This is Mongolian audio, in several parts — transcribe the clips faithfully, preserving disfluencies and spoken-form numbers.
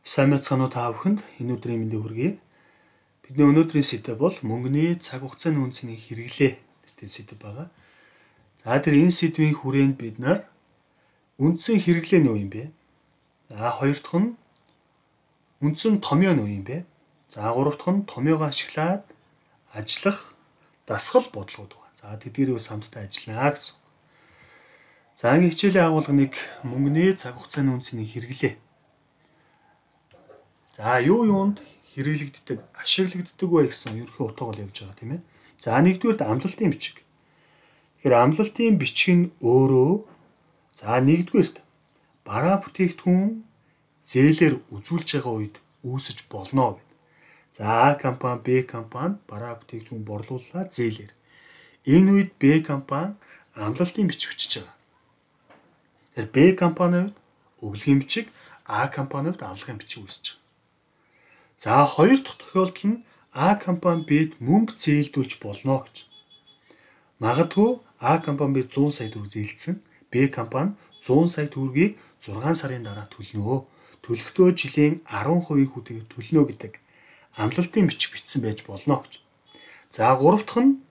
Сайн мэцгаано та бүхэнд энэ өдрийн мэндийг хүргэе. Бидний өнөөдрийн сэдэв бол мөнгөний цаг хугацааны үнцний хэрэглээ гэдэг сэдэв байгаа. За тэр энэ сэдвийн хүрээнд бид нар үндсэн хэрэглээ нь юу юм бэ? За хоёр дахь нь үндсэн томьёо нь юу юм бэ? За гурав дахь нь томьёогоо ашиглаад ажиллах дасгал бодлогод байна. За тэдгээрийг хамтдаа ажиллана гэсэн. За ангийн хичээлийн агуулгыг мөнгөний цаг хугацааны үнцний хэрэглээ. За юу юунд хэрэглэгддэг, ашиглагддаг вэ гэсэн ерөнхий утгааг л явж байгаа тийм ээ. За нэгдүгээр амлалтын бичиг. Тэгэхээр амлалтын бичиг нь өөрөө за нэгдүгээрт бараа бүтээгдэхүүн зээлээр үзүүлж байгаа үед үүсэж болно гэдэг. За А компани Б компанид бараа бүтээгдэхүүн борлууллаа зээлээр. Энэ үед Б компани амлалтын бичиг өчөж байгаа. Тэгэхээр Б компанид өглөгийн бичиг, А компанид авлагын бичиг үүсэж байгаа. За хоёр дахь тохиолдол нь А компани Б'д мөнгө зээлдүүлж болно гэж. Магадгүй А компани Б зуун сая төгрөг зээлдсэн, Б компани зуун сая төгрөгийг зургаан сарын дараа төлнө. Төлөхдөө жилийн арван хувийн хүүтэйгээр төлнө гэдэг амлалтын бичиг бичсэн байж болно гэж. За гурав дахь нь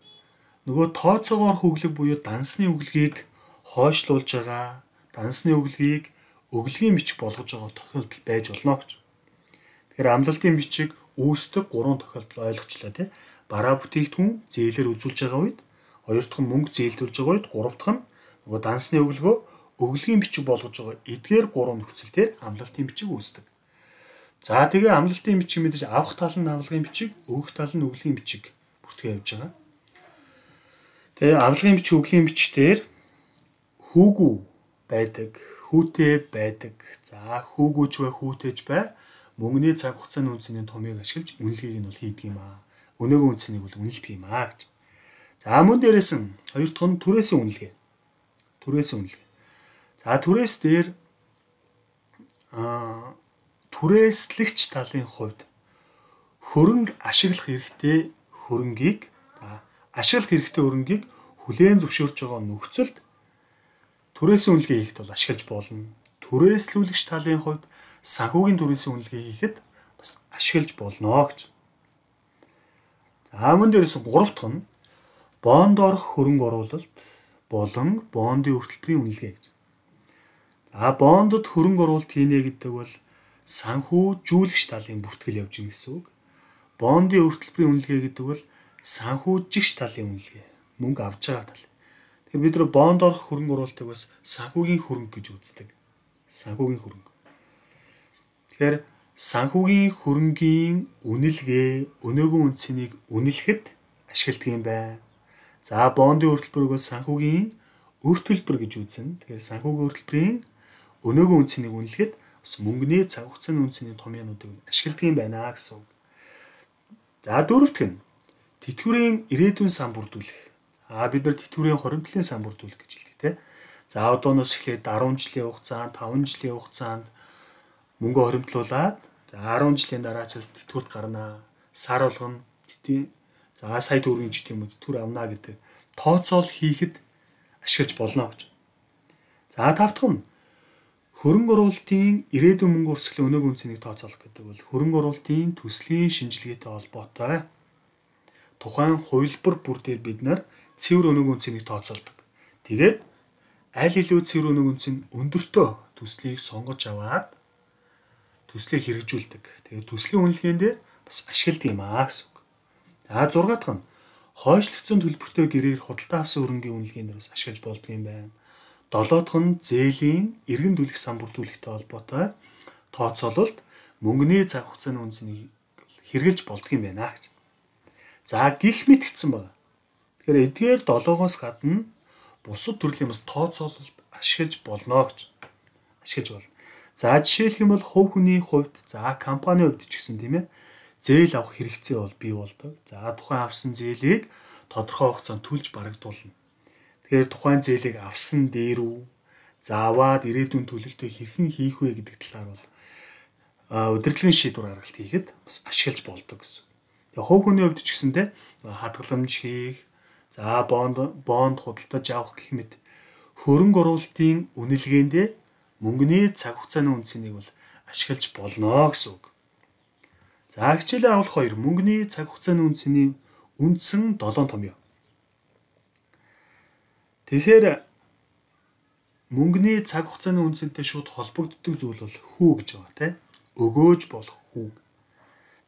нөгөө тооцоогоор хөглөг буюу дансны өглөгийг хойшлуулж байгаа, дансны өглөгийг өглөгийн бичиг болгож байгаа тохиолдол байж болно гэж. Тэгэхээр амлалтын бичиг үүсдэг гурван тохиолдол ойлгочлаа тий. Бараа бүтээгдэхүүн зээлээр үзүүлж байгаа үед, хоёр дахь нь мөнгө зээлдүүлж байгаа үед, гурав дахь нь нөгөө дансны өглөгөө өглөгийн бичиг болгож байгаа. Эдгээр гурван нөхцөл дээр амлалтын бичиг үүсдэг. За тэгээ амлалтын бичиг мэдээж авах тал нь авлагын бичиг, өгөх тал нь өглөгийн бичиг бүртгэж явж байгаа. Тэгээ авлагын бичиг, өглөгийн бичгээр хүүгүү байдаг, хүүтэй байдаг. За хүүгүүч бай, хүүтэйч бай. Мөнгөний цаг хугацааны үнцний томьёог ашиглаж үнэлгээг нь бол хийдэг юм аа. Өнөөгийн үнцнийг бол үнэлдэг юм аа гэж. За мөн дээрээс нь хоёр дахь нь түрээсийн үнэлгээ. Түрээсийн үнэлгээ. За түрээс дээр аа түрээслэгч талын хувьд хөрөнгө ашиглах хэрэгтэй хөрөнгийг ашиглах хэрэгтэй хөрөнгийг хүлээн зөвшөөрч байгаа нөхцөлд түрээсийн үнэлгээ хийхэд бол ашиглаж болно. Түрээслүүлэгч талын хувьд санхүүгийн түрээсийн үнэлгээ хийхэд бас ашиглаж болно гэж. За мөн дээрээс гурав дахь нь бонд орох хөрөнгө оруулалт болон бондын өртөлбөрийн үнэлгээ гэж. За бондод хөрөнгө оруулалт хийнэ гэдэг бол санхүүжүүлэгч талын бүртгэл явж байгаа гэсэн үг. Бондын өртөлбөрийн үнэлгээ гэдэг бол санхүүжигч талын үнэлгээ. Мөнгө авч байгаа тал. Тэгэхээр бид нар бонд орох хөрөнгө оруулалтыг бас санхүүгийн хөрөнгө гэж үздэг. Санхүүгийн хөрөнгө. Тэгэхээр санхүүгийн хөрөнгийн үнэлгээ өнөөгийн үнцнийг үнэлэхэд ашигладаг юм байна. За бондын өртөлбөрийг бол санхүүгийн өртөлбөр гэж үзнэ. Тэгэхээр санхүүгийн өртөлбөрийн өнөөгийн үнцнийг үнэлэхэд бас мөнгөний цаг хугацааны үнцний томьёонуудыг ашигладаг юм байна гэсэн үг. За дөрөвт нь тэтгэврийн ирээдүйн сан бүрдүүлэх. А бид нар тэтгэврийн хоримтлын сан бүрдүүлэх гэж хэлдэг тийм. За одооноос эхлээд дөрвөн жилийн хугацаанд, таван жилийн хугацаанд мөнгө хоримтлуулаад за арван жилийн дараачаас тэтгэврт гарнаа. Сар болгоно тэтгэв. За сая төгрөгийн ч гэдэм үү тэтгэвэр авна гэдэг тооцоол хийхэд ашиглаж болно гэж. За тав дахь нь хөрөнгө оруулалтын ирээдүйн мөнгө өрсгөлийн өнөөгийн үнцнийг тооцоолох гэдэг бол хөрөнгө оруулалтын төслийн шинжилгээтэй холбоотой тухайн хувилбар бүр дээр бид нар цэвэр өнөөгийн үнцнийг тооцоолдог. Тэгээд аль илүү цэвэр өнөөгийн үнц нь өндөртөө төслийг сонгож аваад төслийг хэрэгжүүлдэг. Тэгээд төслийн үнэлгээнд дээр бас ашигладаг юм аа гэсэн үг. За зургаат дахь нь хойшлогдсон төлбөртэй гэрээр худалдаа авсан хөрөнгийн үнэлгээнд дээр бас ашиглаж болдог юм байна. Долоо дахь нь зээлийн эргэн төлөх сан бүрдүүлэхтэй холбоотой тооцоололт мөнгөний цаг хугацааны үнцнийг хэрэгжилж болдог юм байна гэж. За гих мэт гэсэн байна. Тэгэхээр эдгээр долоогоос гадна бусад төрлийн бас тооцоололт ашиглаж болно гэж. Ашиглаж болно. За жишээлх юм бол хувь хүний хувьд за компани хувьд ч гэсэн тийм ээ зээл авах хэрэгцээ бол бий болдог. За тухайн авсан зээлийг тодорхой хугацаанд төлж барагдуулна. Тэгэхээр тухайн зээлийг авсан дээр үү за аваад ирээдүйн төлөлтөө хэрхэн хийх вэ гэдэг талаар бол удирдлагын шийдвэр гаргалт хийхэд бас ашиглаж болдог гэсэн. Тэгээ хувь хүний хувьд ч гэсэндээ хадгаламж хийх, за бонд бонд худалдаж авах гэх мэт хөрөнгө оруулалтын үнэлгээндээ мөнгөний цаг хугацааны үнцнийг бол ашиглаж болно гэсэн үг. За хичээлээ авах хоёр мөнгөний цаг хугацааны үнцний үндсэн долоон томьёо. Тэгэхээр мөнгөний цаг хугацааны үнцэнтэй шууд холбогддог зүйл бол хүү гэж байгаа тийм. Өгөөж болох хүү.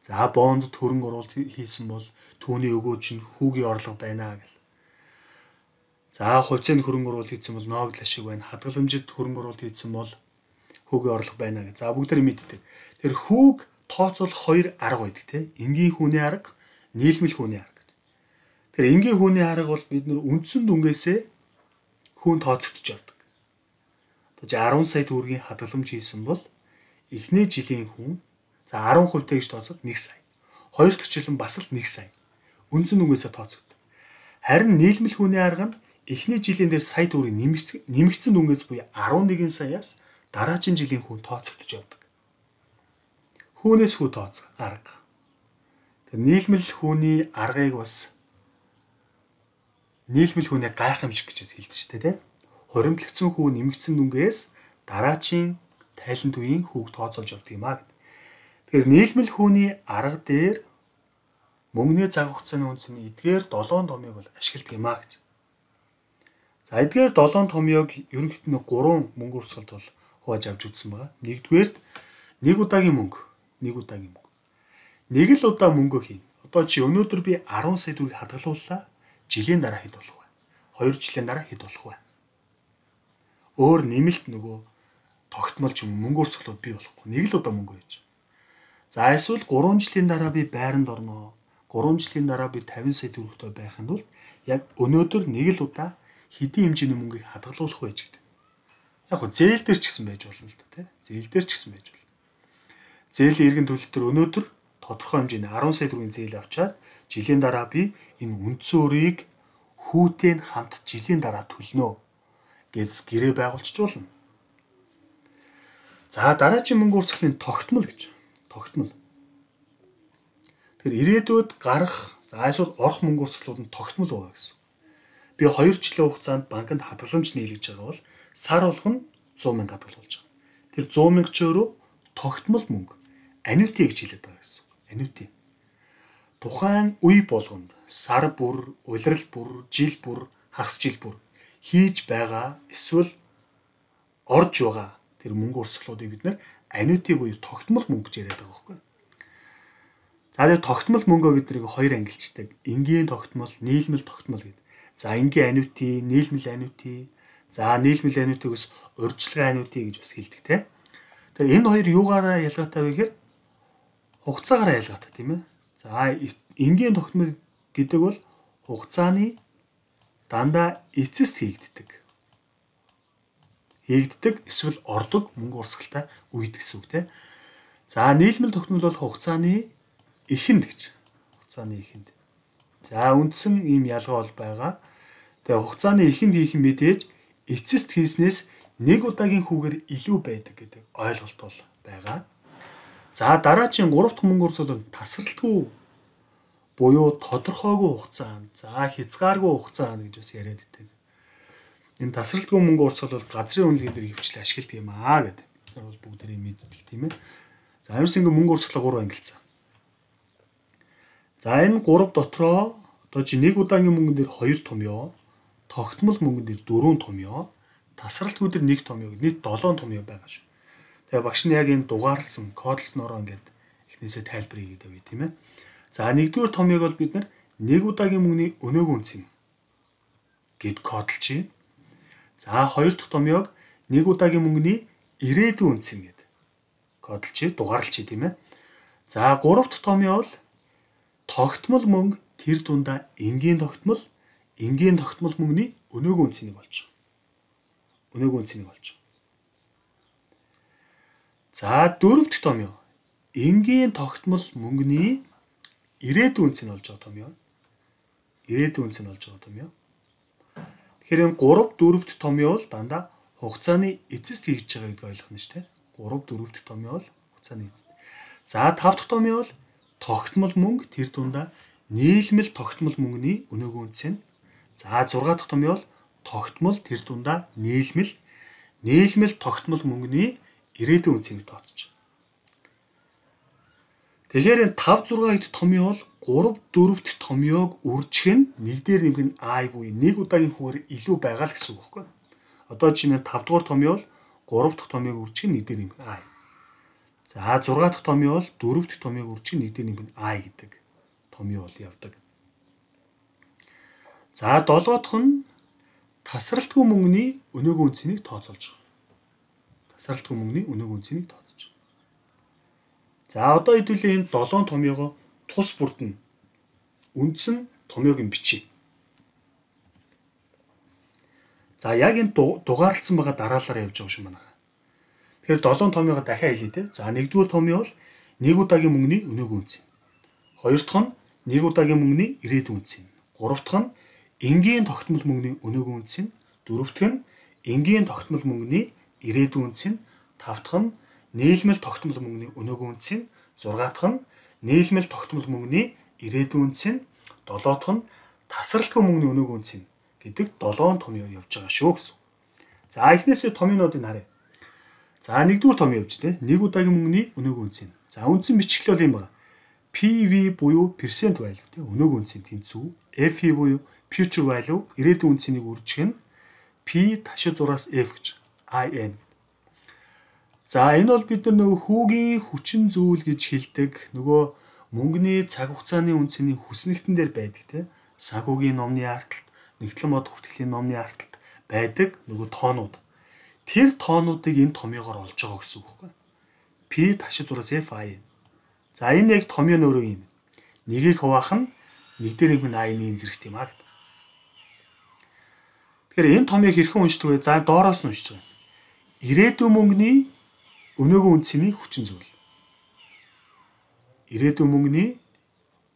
За бонд хөрөнгө оруулалт хийсэн бол түүний өгөөж нь хүүгийн орлого байна гэл. За хувьцаанд хөрөнгө оруулалт хийсэн бол ноогдол ашиг байна. Хадгаламжид хөрөнгө оруулалт хийсэн бол хүүгийн орлого байна гэх. За бүгдээрээ мэддэг. Тэр хүүг тооцоолох хоёр арга байдаг тийм. Энгийн хүүний арга, нийлмэл хүүний арга гэж. Тэр энгийн хүүний арга бол бид нөр үндсэн дүнгээсээ хүүн тооцогдож явдаг. Одоо арван сая төгрөгийн хадгаламж хийсэн бол эхний жилийн хүн за арван хувьтай гэж тооцоод нэг сая. Хоёр дахь жил нь бас л нэг сая. Үндсэн дүнгээсээ тооцогддог. Харин нийлмэл хүүний арга нь эхний жилийн дээр сая төгрөгийн нэмэгдсэн дүнгээс буюу арван нэгэн саяас дараагийн жилийн хүн тооцогдож явдаг. Хүүнээс хүү тооцох арга. Тэр нийлмэл хүүний аргыг бас нийлмэл хүүний гайхамшиг гэж хэлдэг шүү дээ. Хуримтлагдсан хүү нэмэгдсэн дүнгээс дараагийн тайланд үеийн хүүг тооцоолж явдаг юм аа. Тэгэхээр нийлмэл хүүний арга дээр мөнгөний цаг хугацааны үнцний эдгээр долоон томьёог бол ашигладаг юм аа гэж. За эдгээр долоон томьёог ерөнхийдөө нэг гурван мөнгө урсгалд бол хувааж авч үзсэн байгаа. Нэгдүгээрт нэг удаагийн мөнгө, нэг удаагийн мөнгө. Нэг л удаа мөнгө хийнэ. Одоо чи өнөөдөр би арван сая төгрөгийг хадгалууллаа. Жилийн дараа хэд болох вэ? Хоёр жилийн дараа хэд болох вэ? Өөр нэмэлт нөгөө тогтмол ч юм мөнгө урсгалууд бий болохгүй. Нэг л удаа мөнгө хийж. За эсвэл гурван жилийн дараа би байранд орноо. гурван жилийн дараа би тавин сая төгрөгтэй байх нь бол яг өнөөдөр нэг л удаа хэдийн хэмжээний мөнгийг хадгалуулах вэ гэдэг. Яг хөө зээл дээр ч гэсэн байж болно л да тий. Зээл дээр ч гэсэн байж болно. Зээлийн эргэн төлөлт төр өнөөдөр тодорхой хэмжээний арван сая төгрөгийн зээл авчаад жилийн дараа би энэ үндсэн өрийг хүүтэй хамт жилийн дараа төлнө гэж гэрээ байгуулчих болно. За дараагийн мөнгө урсгалын тогтмол гэж. Тогтмол. Тэр ирээдүйд гарах за эсвэл орох мөнгө урсгалууд нь тогтмол байгаа гэсэн. Би хоёр жилийн хугацаанд банкнд хадгаламж нийлгэж байгаа бол сар болгон зуун мянга хадгалуулж байгаа. Тэр зуун мянга ч өөрөө тогтмол мөнгө. Аннуити гэж хэлээд байгаа гэсэн. Аннуити. Тухайн үе болгонд сар бүр, улирал бүр, жил бүр, хагас жил бүр хийж байгаа эсвэл орж байгаа тэр мөнгө урсгалуудыг бид нэр аннуити буюу тогтмол мөнгө гэж яриад байгаа байхгүй. За тэр тогтмол мөнгөө бид нэг хоёр ангилчдаг. Энгийн тогтмол, нийлмэл тогтмол гэдэг. За энгийн аннуити, нийлмэл аннуити, за нийлмэл аннуитигээс урьдчилан аннуити гэж бас хэлдэг тийм. Тэр энэ хоёр юугаараа ялгаатай вэ гэхээр хугацаагаараа ялгаатай тийм ээ. За энгийн тогтмол гэдэг бол хугацааны дандаа эцэст хийгддэг. Хийгддэг эсвэл ордог мөнгө урсгалтай үед гэсэн үг тийм. За нийлмэл тогтмол бол хугацааны эхэнд гэж. Хугацааны эхэнд. За үндсэн ийм ялгаа бол байгаа. Тэгээ хугацааны эхэнд хийх мэдээж эцэст хийснээс нэг удаагийн хүүгээр илүү байдаг гэдэг ойлголт бол байгаа. За дараагийн гурав дахь мөнгө урсгал бол тасралтгүй буюу тодорхойгүй хугацаанд, за хязгааргүй хугацаанд гэж бас яриад байдаг. Энэ тасралтгүй мөнгө урсгал бол газрын үнэлгээ дээр хөвчлээ ашигладаг юм аа гэдэг. Бид нар бол бүгдээрээ мэддэг тийм ээ. За ерөөс ингэ мөнгө урсгалаа гурав ангилсан. За энэ гурав дотроо одоо чи нэг удаагийн мөнгөн дээр хоёр томьёо, тогтмол мөнгөн дээр дөрвөн томьёо, тасралтгүй дээр нэг томьёо нийт долоон томьёо байгаа шүү. Тэгээ багш нь яг энэ дугаарлсан, кодлснороо ингээд эхнээсээ тайлбар хийгээд байв тийм ээ. За нэгдүгээр томьёог бол бид нар нэг удаагийн мөнгөний өнөөгийн үнц юм гэд кодлчих. За хоёр дахь томьёог нэг удаагийн мөнгөний ирээдүйн үнц юм гэд кодлчих, дугаарлчих тийм ээ. За гурав дахь томьёо бол тогтмол мөнгө тэр дундаа энгийн тогтмол, энгийн тогтмол мөнгөний өнөөгийн үнцнийг болж байгаа. Өнөөгийн үнцнийг болж байгаа. За дөрөв дэх томьёо энгийн тогтмол мөнгөний ирээдүйн үнц нь болж байгаа томьёо. Ирээдүйн үнц нь болж байгаа томьёо. Тэгэхээр энэ гурав дөрөв дэх томьёо бол дандаа хугацааны эцэст хийж байгаа гэдгийг ойлгох нь шүү дээ. гурав дөрөв дэх томьёо бол хугацааны эцэст. За тав дахь томьёо бол тогтмол мөнгө тэр дундаа нийлмэл тогтмол мөнгөний өнөөгийн үнц нь. За зургаа дахь томьёо бол тогтмол тэр дундаа нийлмэл нийлмэл тогтмол мөнгөний ирээдүйн үнцийг тооцож. Тэгэхээр энэ five six хэд томьёо бол three four дахь томьёог үржих нь нэг дээр нэмэх нь I буюу нэг удаагийн хүүгээр илүү байгаа л гэсэн үг байхгүй. Одоо чинь five дугаар томьёо бол three дахь томьёог үржих нь нэг дээр нэмэх нь I. За six дахь томьёо бол four дахь томьёог үржих нь нэг дээр нэмэх нь I гэдэг томьёо бол явдаг. За seven дахь нь тасралтгүй мөнгөний өнөөгийн үнцнийг тооцоолж байгаа. Тасралтгүй мөнгөний өнөөгийн үнцнийг тооцоолж байгаа. За одоо хэдүүлээ энэ seven томьёогоо тус бүрдэн үндс нь томьёогийн бичиж. За яг энэ дугаарлцсан байгаа дараалалаар явж байгаа юм байна. Тэгэхээр seven томьёогоо дахиад хэлье те. За нэгдүгээр томьёо бол нэг удаагийн мөнгөний өнөөгийн үнц. Хоёр дахь нь нэг удаагийн мөнгөний ирээдүйн үнц. Гурав дахь нь энгийн тогтмол мөнгөний өнөөгийн үнц. Дөрөв дахь нь энгийн тогтмол мөнгөний ирээдүйн үнц. Тав дахь нь нийлмэл тогтмол мөнгөний өнөөгийн үнц. Зургаат дахь нь нийлмэл тогтмол мөнгөний ирээдүйн үнц. Долоо дахь нь тасралтгүй мөнгөний өнөөгийн үнц гэдэг seven томьёо явж байгаа шүү гэсэн. За эхнээсээ томьёонуудыг харъя. За нэгдүгээр томьёо явж тэ нэг удаагийн мөнгөний өнөөгийн үнц. За үндсэн бичгэл бол юм байна. P V буюу percent value тэ өнөөгийн үнцийн тэнцүү. F V буюу future value ирээдүйн үнцнийг үржих нь P ташид зураас F гэж I N. За энэ бол бид нар нөгөө хүүгийн хүчин зүйл гэж хэлдэг. Нөгөө мөнгөний цаг хугацааны үнцний хүснэгтэн дээр байдаг те. Санхүүгийн номны арталт, нэгтлэн бод хүртгэлийн номны арталт байдаг нөгөө тоонууд. Тэр тоонуудыг энэ томьёогоор олж байгаа гэсэн үг байхгүй. P ташид зураас F I N. За энэ яг томьёо нөрөө юм. Нэгийг хуваах нь нэг дээр нэг нь I-ийн зэрэгт юм аа гэдэг. Тэгэхээр энэ томьёог хэрхэн уншдаг вэ? За доороос нь уншиж байгаа. Ирээдүйн мөнгөний өнөөгийн үнцний хүчин зүйл. Ирээдүйн мөнгөний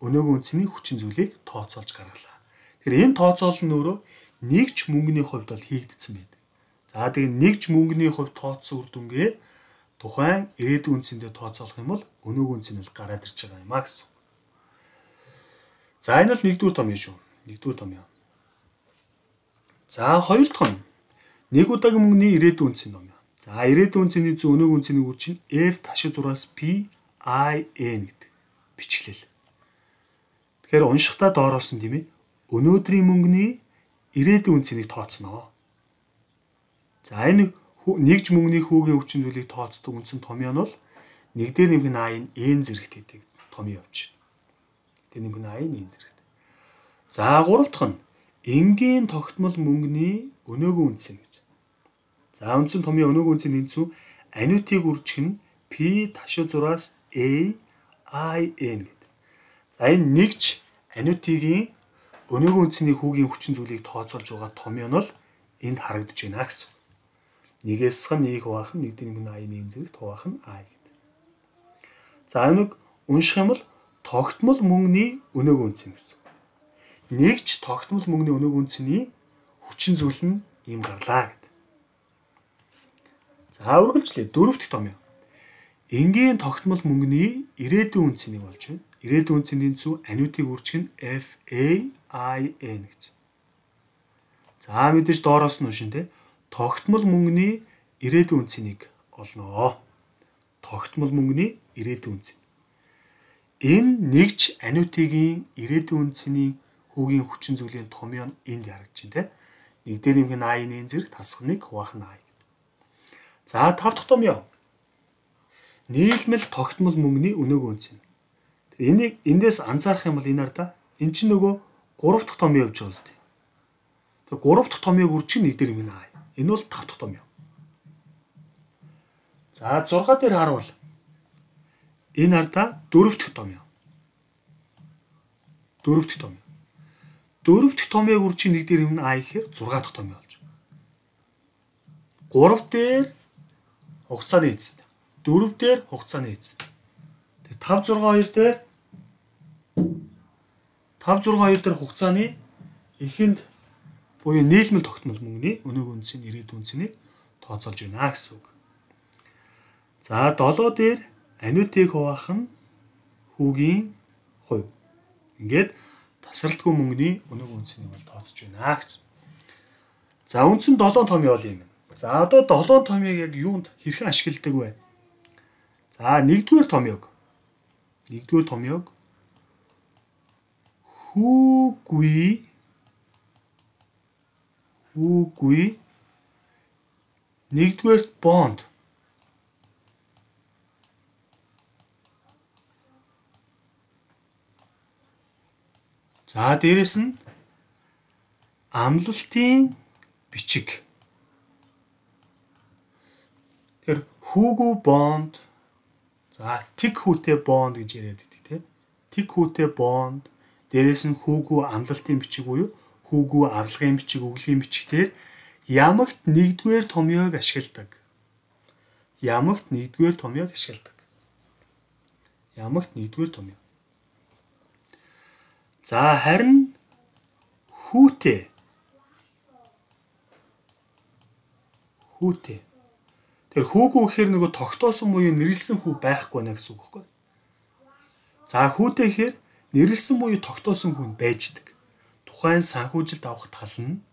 өнөөгийн үнцний хүчин зүйлийг тооцоолж гаргалаа. Тэгэхээр энэ тооцоол нь өөрөө нэгж мөнгөний хувьд бол хийгдсэн байдаг. За тэгээд нэгж мөнгөний хувьд тооцсон үр дүнгээ тухайн ирээдүйн үнцэндээ тооцоолох юм бол өнөөгийн үнц нь бол гараад ирж байгаа юм а гэсэн. За энэ бол нэгдүгээр томьёо шүү. Нэгдүгээр томьёо. За хоёр дахь нь нэг удаагийн мөнгөний ирээдүйн үнцийн томьёо. За ирээдүйн үнцний зөв өнөөгийн үнцний үр чинь F ташид зураас P I N гэдэг бичгэлэл. Тэгэхээр уншихтаа доороос нь тийм ээ өнөөдрийн мөнгөний ирээдүйн үнцнийг тооцноо. За энэ нэгж мөнгөний хүүгийн хүчин зүйлийг тооцдог үндсэн томьёо нь бол нэг дээр нэмэх нь I-ийн N зэрэгт гэдэг томьёо явж байна. Тэр нэмэх нь I-ийн N зэрэгт. За гурав дахь нь энгийн тогтмол мөнгөний өнөөгийн үнц гэж. За үндсэн томьёо өнөөгийн үнцийн тэнцүү анитыг үржих нь P ташид зураас A I N гэдэг. За энэ нэгж анитигийн өнөөгийн үнцний хүүгийн хүчин зүйлийг тооцоолж байгаа томьёо нь бол энд харагдаж байна гэсэн. Нэгээс хан нэг хуваах нь нэг дээр нэмэх нь I-ийн N зэрэгт хуваах нь I гэдэг. За энийг унших юм бол тогтмол мөнгөний өнөөгийн үнц гэсэн. Нэгж тогтмол мөнгөний өнөөгийн үнцний хүчин зүйл нь ийм гарлаа гэдэг. За үргэлжлэе дөрөв дэх томьёо. Энгийн тогтмол мөнгөний ирээдүйн үнцнийг болж байна. Ирээдүйн үнцийн тэнцүү анитыг үржих нь F A I N гэж. За мэдээж доороос нь уншин те. Тогтмол мөнгөний ирээдүйн үнцнийг олноо. Тогтмол мөнгөний ирээдүйн үнц. Энэ нэгж анитигийн ирээдүйн үнцний хүүгийн хүчин зүйлийн томьёо нь энд харагдаж байна те. Нэг дээр нэмэх нь I-ийн N зэрэг тасах нэг хуваах нь I. За тав дахь томьёо. Нийлмэл тогтмол мөнгөний өнөөгийн үнц. Энийг эндээс анзаарах юм бол энэ ар да. Эн чинь нөгөө гурав дахь томьёо явж байгаа зү. Тэр гурав дахь томьёог үржих нэг дээр юм аа. Энэ бол тав дахь томьёо. За зургаа дээр харуул. Энэ ар да дөрөв дэх томьёо. Дөрөв дэх томьёо. Дөрөв дэх томьёог үржих нэг дээр юм аа гэхээр зургаа дахь томьёо болж. гурав дээр хугацааны эцэст. дөрөв дээр хугацааны эцэст. Тэр five six two дээр five six two дээр хугацааны эхэнд буюу нийлмэл тогтмол мөнгөний өнөөгийн үнцийн ирээдүйн үнцнийг тооцоолж байна гэсэн үг. За долоо дээр анитыг хуваах нь хүүгийн хувь. Ингээд тасралтгүй мөнгөний өнөөгийн үнцнийг бол тооцож байна гэж. За үндсэн seven томьёо бол юм. За одоо seven томьёог яг юунд хэрхэн ашигладаг вэ? За нэгдүгээр томьёог нэгдүгээр томьёог хүүгүй хүүгүй нэгдүгээр бонд. За дээрэс нь амлалтын бичиг. Тэр хүүгүй бонд. За тэг хүүтэй бонд гэж яриад байдаг тийм. Тэг хүүтэй бонд. Дээрээс нь хүүгүй амлалтын бичиг буюу хүүгүй авлагын бичиг, өглөгийн бичгээр ямагт нэгдүгээр томьёог ашигладаг. Ямагт нэгдүгээр томьёог ашигладаг. Ямагт нэгдүгээр томьёо. За харин хүүтэй. Хүүтэй. Тэр хүүгүй гэхээр нөгөө тогтоосон буюу нэрлсэн хүү байхгүй нэ гэсэн үг байхгүй. За хүүтэй гэхээр нэрлсэн буюу тогтоосон хүн байждаг. Тухайн санхүүжилт авах тал нь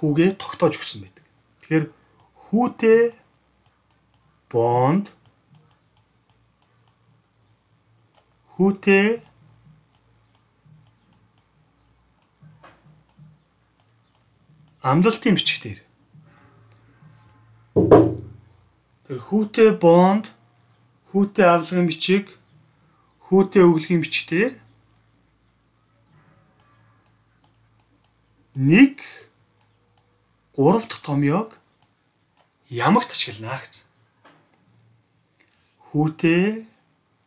хүүгээ тогтоож өгсөн байдаг. Тэгэхээр хүүтэй бонд хүүтэй амлалтын бичгээр. Тэр хүүтэй бонд, хүүтэй авлагын бичиг, хүүтэй өглөгийн бичгээр нэг гурав дахь томьёог ямагт ашиглана гэж. Хүүтэй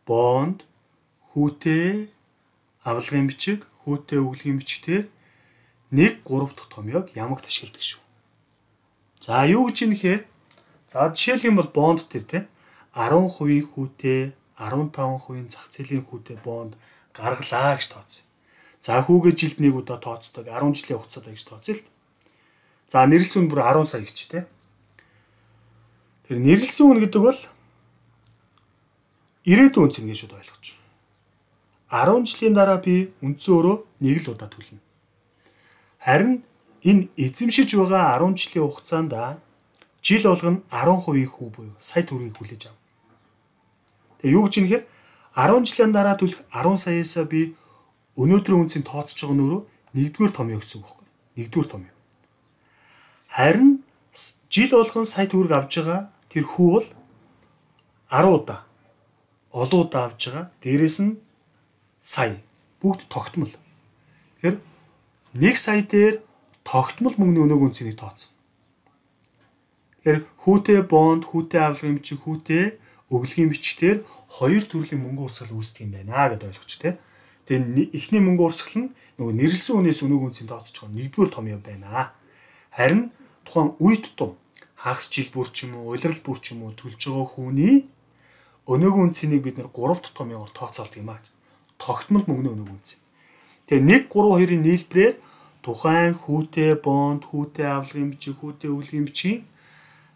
бонд, хүүтэй авлагын бичиг, хүүтэй өглөгийн бичгээр нэг гурав дахь томьёог ямагт ашигладаг шүү. За юу гэж юм нэхээр за жишээлх юм бол бонд төр те арван хувийн хүүтэй, арван таван хувийн зах зээлийн хүүтэй бонд гаргалаа гэж тооцсон. За хүүгээ жилд нэг удаа тооцдог, арван жилийн хугацаанд гэж тооцъё л. За нэрлсэн үн бүр арван сая гэж те. Тэр нэрлсэн үн гэдэг бол ирээдүйн үнц гэж шууд ойлгож. арван жилийн дараа би үндсэн өрөө нэг л удаа төлнө. Харин энэ эзэмшиж байгаа арван жилийн хугацаанд жил болгоно арван хувийн хүү буюу сая төгрөгийг хүлээж ав. Тэгээ юу гэж юм нэхэр арван жилийн дараа төлөх арван саяасаа би өнөөдрийн үнцийг тооцож байгаа нөрөө нэгдүгээр томьёо гэсэн үг байхгүй. Нэгдүгээр томьёо. Харин жил болгон сая төгрөг авж байгаа тэр хүү бол арван удаа олон удаа авж байгаа. Дээрээс нь сая бүгд тогтмол. Тэгэхээр нэг сая дээр тогтмол мөнгөний өнөөгийн үнцийг тооцсон. Тэгэхээр хүүтэй бонд, хүүтэй авлагын бичиг, хүүтэй өглөгийн бичгээр хоёр төрлийн мөнгө урсгал үүсдэг юм байна гэдээ ойлгоч тэ. Тэгээ эхний мөнгө урсгал нь нөгөө нэрлсэн үнээс өнөөгийн үнцийг тооцож байгаа нэгдүгээр томьёо байна. Харин тухайн үе тутам хагас жил бүр ч юм уу, улирал бүр ч юм уу төлж байгаа хүний өнөөгийн үнцийг бид нэр гурав дахь томьёогоор тооцоолдог юм аа. Тогтмол мөнгөний өнөөгийн үнц. Тэгээ нэг гурав хоёрын нийлбэрээр тухайн хүүтэй бонд, хүүтэй авлагын бичиг, хүүтэй өглөгийн бичгийн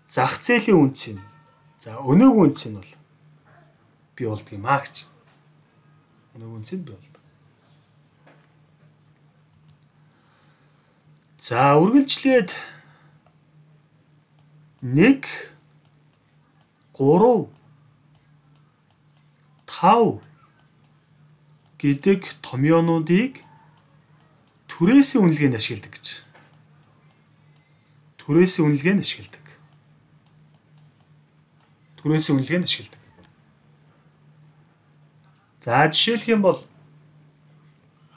зах зээлийн үнц нь. За өнөөгийн үнц нь бол бий болдго юм аа гэж. Өнөөгийн үнц нь бий болдог. За үргэлжлээд нэг гурав тав гэдэг томьёонуудыг түрээсийн үнэлгээнд ашигладаг гэж. Түрээсийн үнэлгээнд ашигладаг. Түрээсийн үнэлгээнд ашигладаг. За жишээлх юм бол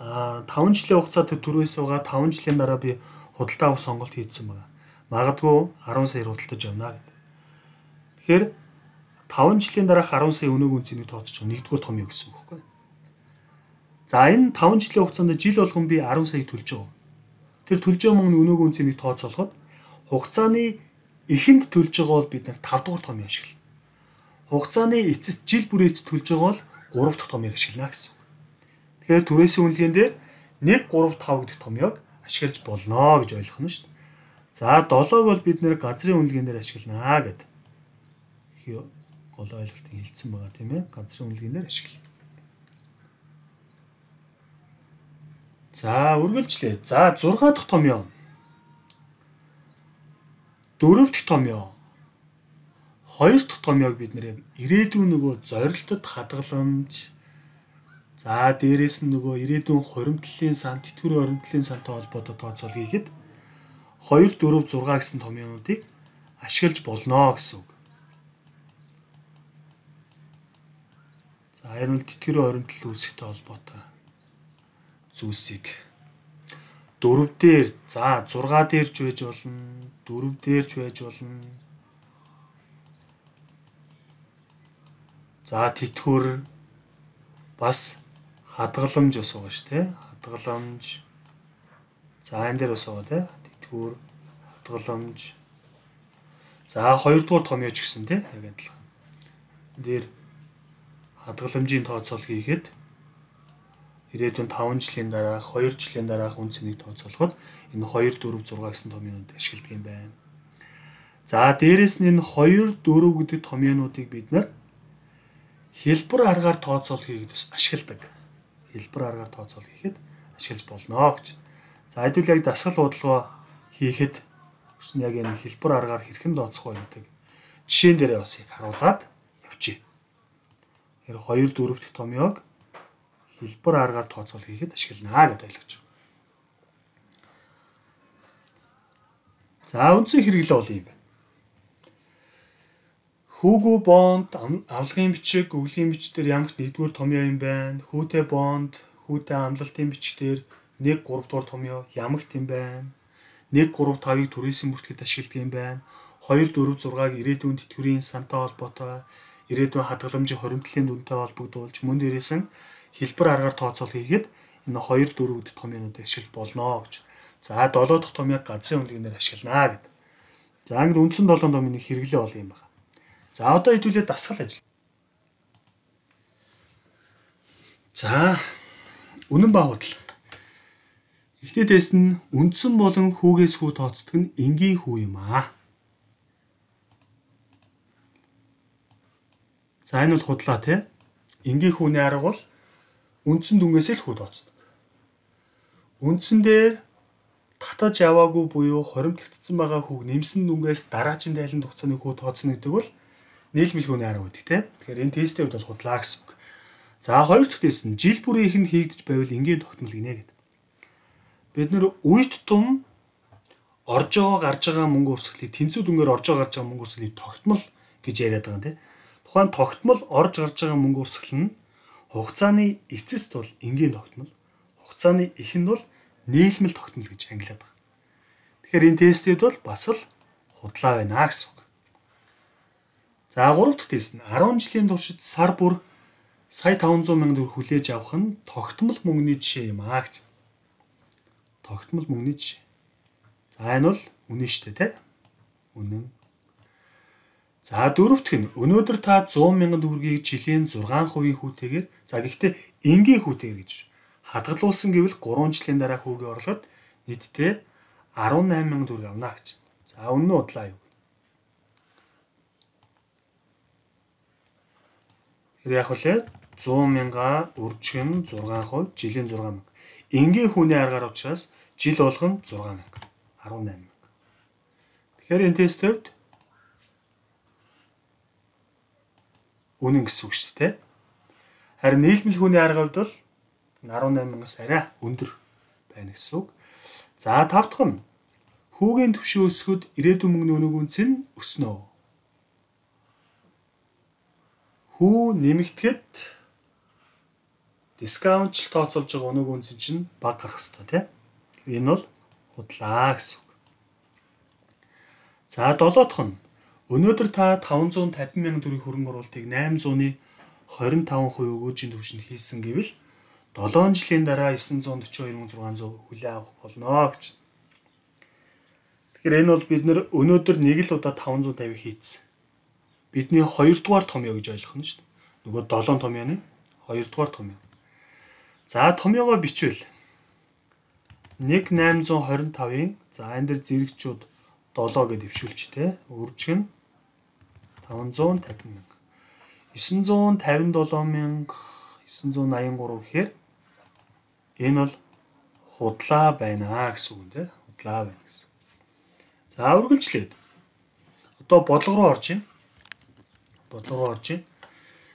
а таван жилийн хугацаанд түрээс байгаа таван жилийн дараа би худалдаа авах сонголт хийсэн байна. Магадгүй арван саяар худалдаж явна гэдэг. Тэгэхээр таван жилийн дараах арван сая өнөөгийн үнцийг тооцож байгаа нэгдүгээр томьёо гэсэн үг байхгүй. За энэ таван жилийн хугацаанд жил болгон би арван сая төлж байгаа. Тэр төлж байгаа мөнгөний өнөөгийн үнцийг тооцоолоход хугацааны эхэнд төлж байгаа бол бид нар тав дугаар томьёо ашиглана. Хугацааны эцэст жил бүрээц төлж байгаа бол гурав дахь томьёог ашиглана гэсэн үг. Тэгэхээр түрээсийн үнэлгээнд дээр нэг гурав тав гэдэг томьёог ашиглаж болно гэж ойлгох нь шүү дээ. За долоог бол бид нэр газрын үнэлгээнд дээр ашиглана гэдэг. Гол ойлголтыг хэлсэн байгаа тийм ээ. Газрын үнэлгээнд дээр ашиглана. За үргэлжлээ. За зургаа дахь томьёо. дөрөв дахь томьёо. Хоёр дахь томьёог бид нэр яг ирээдүйн нөгөө зорилтод хадгаламж, за дээрэс нь нөгөө ирээдүйн хуримтлалын сан, тэтгэврийн хуримтлалын сантай холбоотой тооцоол хийхэд хоёр, дөрөв, зургаан гэсэн томьёонуудыг ашиглаж болно гэсэн үг. За энэ нь тэтгэврийн хуримтлал үүсгэхтэй холбоотой зүйлсийг дөрөв дээр, за зургаан дээрч байж болно, дөрөв дээрч байж болно. За тэтгэвэр бас хадгаламж бас байгаа шүү дээ. Хадгаламж. За энэ дээр бас байгаа тий. Тэтгэвэр, хадгаламж. За хоёрдугаар томьёоч гэсэн тий. Яг адилхан. Энд дээр хадгаламжийн тооцоол хийхэд ирээдүйн таван жилийн дараах, хоёр жилийн дараах үн цэнийг тооцоолоход энэ хоёр, дөрөв, зургаан гэсэн томьёонууд ашигладаг юм байна. За дээрэс нь энэ хоёр, дөрөв гэдэг томьёонуудыг бид нар хэлбэр аргаар тооцоол хийгээд бас ашигладаг. Хэлбэр аргаар тооцоол хийхэд ашиглаж болно гэж. За хэдүүл яг дасгал бодлого хийхэд яг энэ хэлбэр аргаар хэрхэн тооцох вэ гэдэг жишээн дээрээ бас их харуулад явчих. Тэр хоёр, дөрөв дэх томьёог хэлбэр аргаар тооцоол хийхэд ашиглана гэдээ ойлгож байна. За үндсэн хэрэглээ бол юм байна. Хүүгүү бонд, авлагын бичиг, өвлийн бичгээр ямагт нэгдүгээр томьёо юм байна. Хүүтэй бонд, хүүтэй амлалтын бичгээр нэг, гурав дугаар томьёо ямагт юм байна. нэг, гурав, тавыг түрээсийн бүртгэд ашигладаг юм байна. хоёр, дөрөв, зургааг ирээдүйн тэтгэврийн сантай холбоотой, ирээдүйн хадгаламжийн хуримтлалын дүнтэй холбогдуулж мөн дээрээс нь хэлбэр аргаар тооцоол хийгээд энэ хоёр, дөрөв гэдэг томьёонуудыг ашиглаж болно гэж. За долоо дахь томьёог газрын үнэлгээнээр ашиглана гэдэг. За ингээд үндсэн долоон томьёоны хэрэглээ бол юм байна. За одоо хэдүүлээ дасгал ажил. За үнэн ба худал. Эхний тест нь үндсэн болон хүүгээс хүү тооцдог нь энгийн хүү юм аа. За энэ бол худлаа тий. Энгийн хүүний арга бол үндсэн дүнгээс л хүү тооцдог. Үндсэн дээр татаж яваагүй буюу хоримтлагдсан байгаа хүүг нэмсэн дүнгээс дараагийн тайланд хугацааны хүү тооцно гэдэг бол нийлмэл хүүний арга гэдэг тийм. Тэгэхээр энэ тестийн хувьд бол худлаа гэсэн үг. За хоёр дахь тест нь жил бүрийн ихэнд хийгдэж байвал энгийн тогтмол гинэ гэдэг. Бид нэр үйт тум орж байгаа гарч байгаа мөнгө өрсөлдөлийг тэнцүү дүнгээр орж байгаа гарч байгаа мөнгө өрсөлдөлийг тогтмол гэж яриад байгаа юм тийм. Тухайн тогтмол орж гарч байгаа мөнгө өрсөлдөл нь хугацааны эцэст бол энгийн тогтмол, хугацааны эхэнд бол нийлмэл тогтмол гэж ангилаад байгаа. Тэгэхээр энэ тестүүд бол бас л худлаа байна гэсэн үг. За гурав дахь тест нь арван жилийн туршид сар бүр сая таван зуун мянган төгрөг хүлээж авах нь тогтмол мөнгөний жишээ юм аа гэж. Тогтмол мөнгөний жишээ. За энэ бол үнэн шүү дээ, тэ? Үнэн. За дөрөв дахь нь өнөөдөр та зуун мянган төгрөгийг жилийн зургаан хувийн хүүтэйгээр за гэхдээ энгийн хүүтэйгээр гэж хадгалуулсан гэвэл гурван жилийн дараа хүүгээ орлоход нийтдээ арван найман мянган төгрөг авна гэж. За үнэн удлаа юу? Тэр яг үлээ зуун мянга үржигэн зургаан хувь жилийн зургаан мянга. Энгийн хүүний аргаар учраас жил болгон зургаан мянга. арван найман мянга. Тэгэхээр энэ тест төвд үнэн гэсэн үг шүү дээ. Харин нийлмэл хүүний арга хувьд бол арван найман мянгаас арай өндөр байна гэсэн үг. За тав дахь нь хүүгийн түвшин өсгөд ирээдүйн мөнгөний өнөг үнц нь өснө. Хүү нэмэгдэхэд дискаунт тооцоолж байгаа өнөг үнц чинь бага гарах хэрэгтэй тийм. Энэ бол худлаа гэсэн үг. За долоо дахь нь өнөөдөр та таван зуун тавин мянган төгрөгийн хөрөнгө оруулалтыг восемь зууны хорин таван хувь өгөөжийн түвшинд хийсэн гэвэл долоон жилийн дараа девять сорок two thousand six hundred хүлээн авах болно гэж. Тэгэхээр энэ бол бид нэр өнөөдөр нэг л удаа таван зуун тавиг хийцэн. Бидний хоёрдугаар томьёо гэж ойлгох нь шүү дээ. Нөгөө долоон томьёоны хоёрдугаар томьёо. За томьёогоо бичвэл нэг восемь two five-ын за энэ дэр зэрэгчүүд долоо гэж дэвшүүлж тэ. Үржих нь таван зуун тавин мянга. девять сорок seven мянга девять eighty three гэхээр энэ бол худлаа байна гэсэн үг нэ. Худлаа байна гэсэн. За үргэлжлээд. Одоо бодлого руу орж ийн. бодлого орж байна.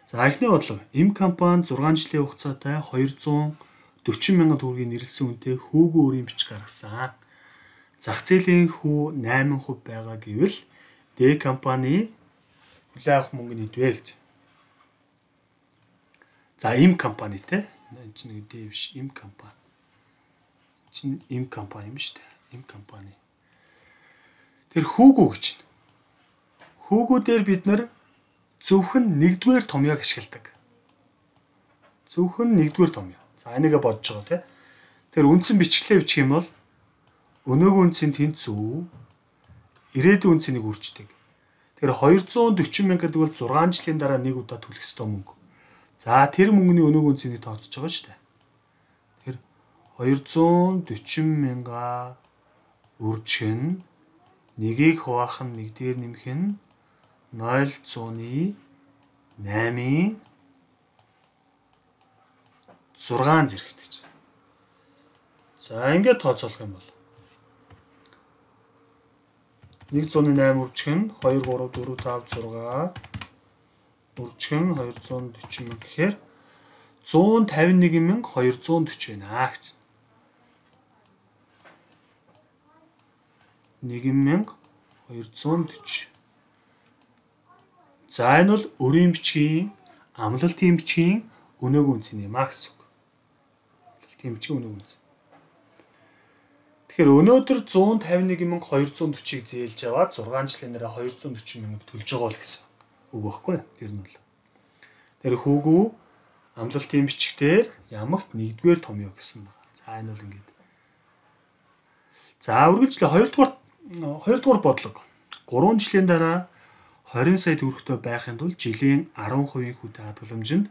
За эхний бодлого. Эм компани зургаан жилийн хугацаатай хоёрзуун дөрвөн мянган төгрөгийн нэрлсэн үнэтэй хүүгүй өрийн бичиг гаргасан. Зах зээлийн хүү найман хувь байгаа гэвэл Д компани хүлээн авах мөнгө нь хэдвэ гэж. За эм компани те. Энэ чинь нэг Д биш, эм компани. Чин эм компани юм шүү дээ. Эм компани. Тэр хүүгүй гэж байна. Хүүгүй дээр бид нар зөвхөн нэгдүгээр томьёог ашигладаг. Зөвхөн нэгдүгээр томьёо. За энийгээ бодож байгаа те. Тэр үндсэн бичглээ бичих юм бол өнөөгийн үндсийн тэнцүү ирээдүйн үндсийг үрждэг. Тэр хоёрзуун дөрвөн мянга гэдэг бол зургаан жилийн дараа нэг удаа төлөх ёстой мөнгө. За тэр мөнгөний өнөөгийн үндсийг тооцож байгаа шүү дээ. Тэр хоёрзуун дөрвөн мянга үржих нь нэгийг хуваах нь нэг дээр нэмэх нь нуль зууны наймын зургаан зэрэгт гэж. За ингээд тооцоолох юм бол нэг зууны найман үржих нь хоёр, гурав, дөрөв, тав, зургаан үржих нь хоёрзуун дөрвөн мянга гэхээр зуун тавин нэг мянга хоёрзуун дөрвөн байна гэж. нэг мянга хоёрзуун дөрвөн. За энэ бол өрийн бичгийн амлалтын бичгийн өнөөгийн үнц юм аа гэсэн үг. Амлалтын бичгийн өнөөгийн үнц. Тэгэхээр өнөөдөр зуун тавин нэг мянга хоёрзуун дөрвийг зээлж аваад зургаан жилийн дараа хоёрзуун дөрвөн мянга төлж байгаа л гэсэн үг байхгүй. Тэр нь бол. Тэр хүүгүй амлалтын бичгээр ямагт нэгдүгээр томьёо гэсэн байна. За энэ бол ингээд. За үргэлжлээ хоёрдугаар хоёрдугаар бодлого. гурван жилийн дараа хорин сая төгрөгтэй байхын тулд жилийн арван хувийн хүүтэй хадгаламжинд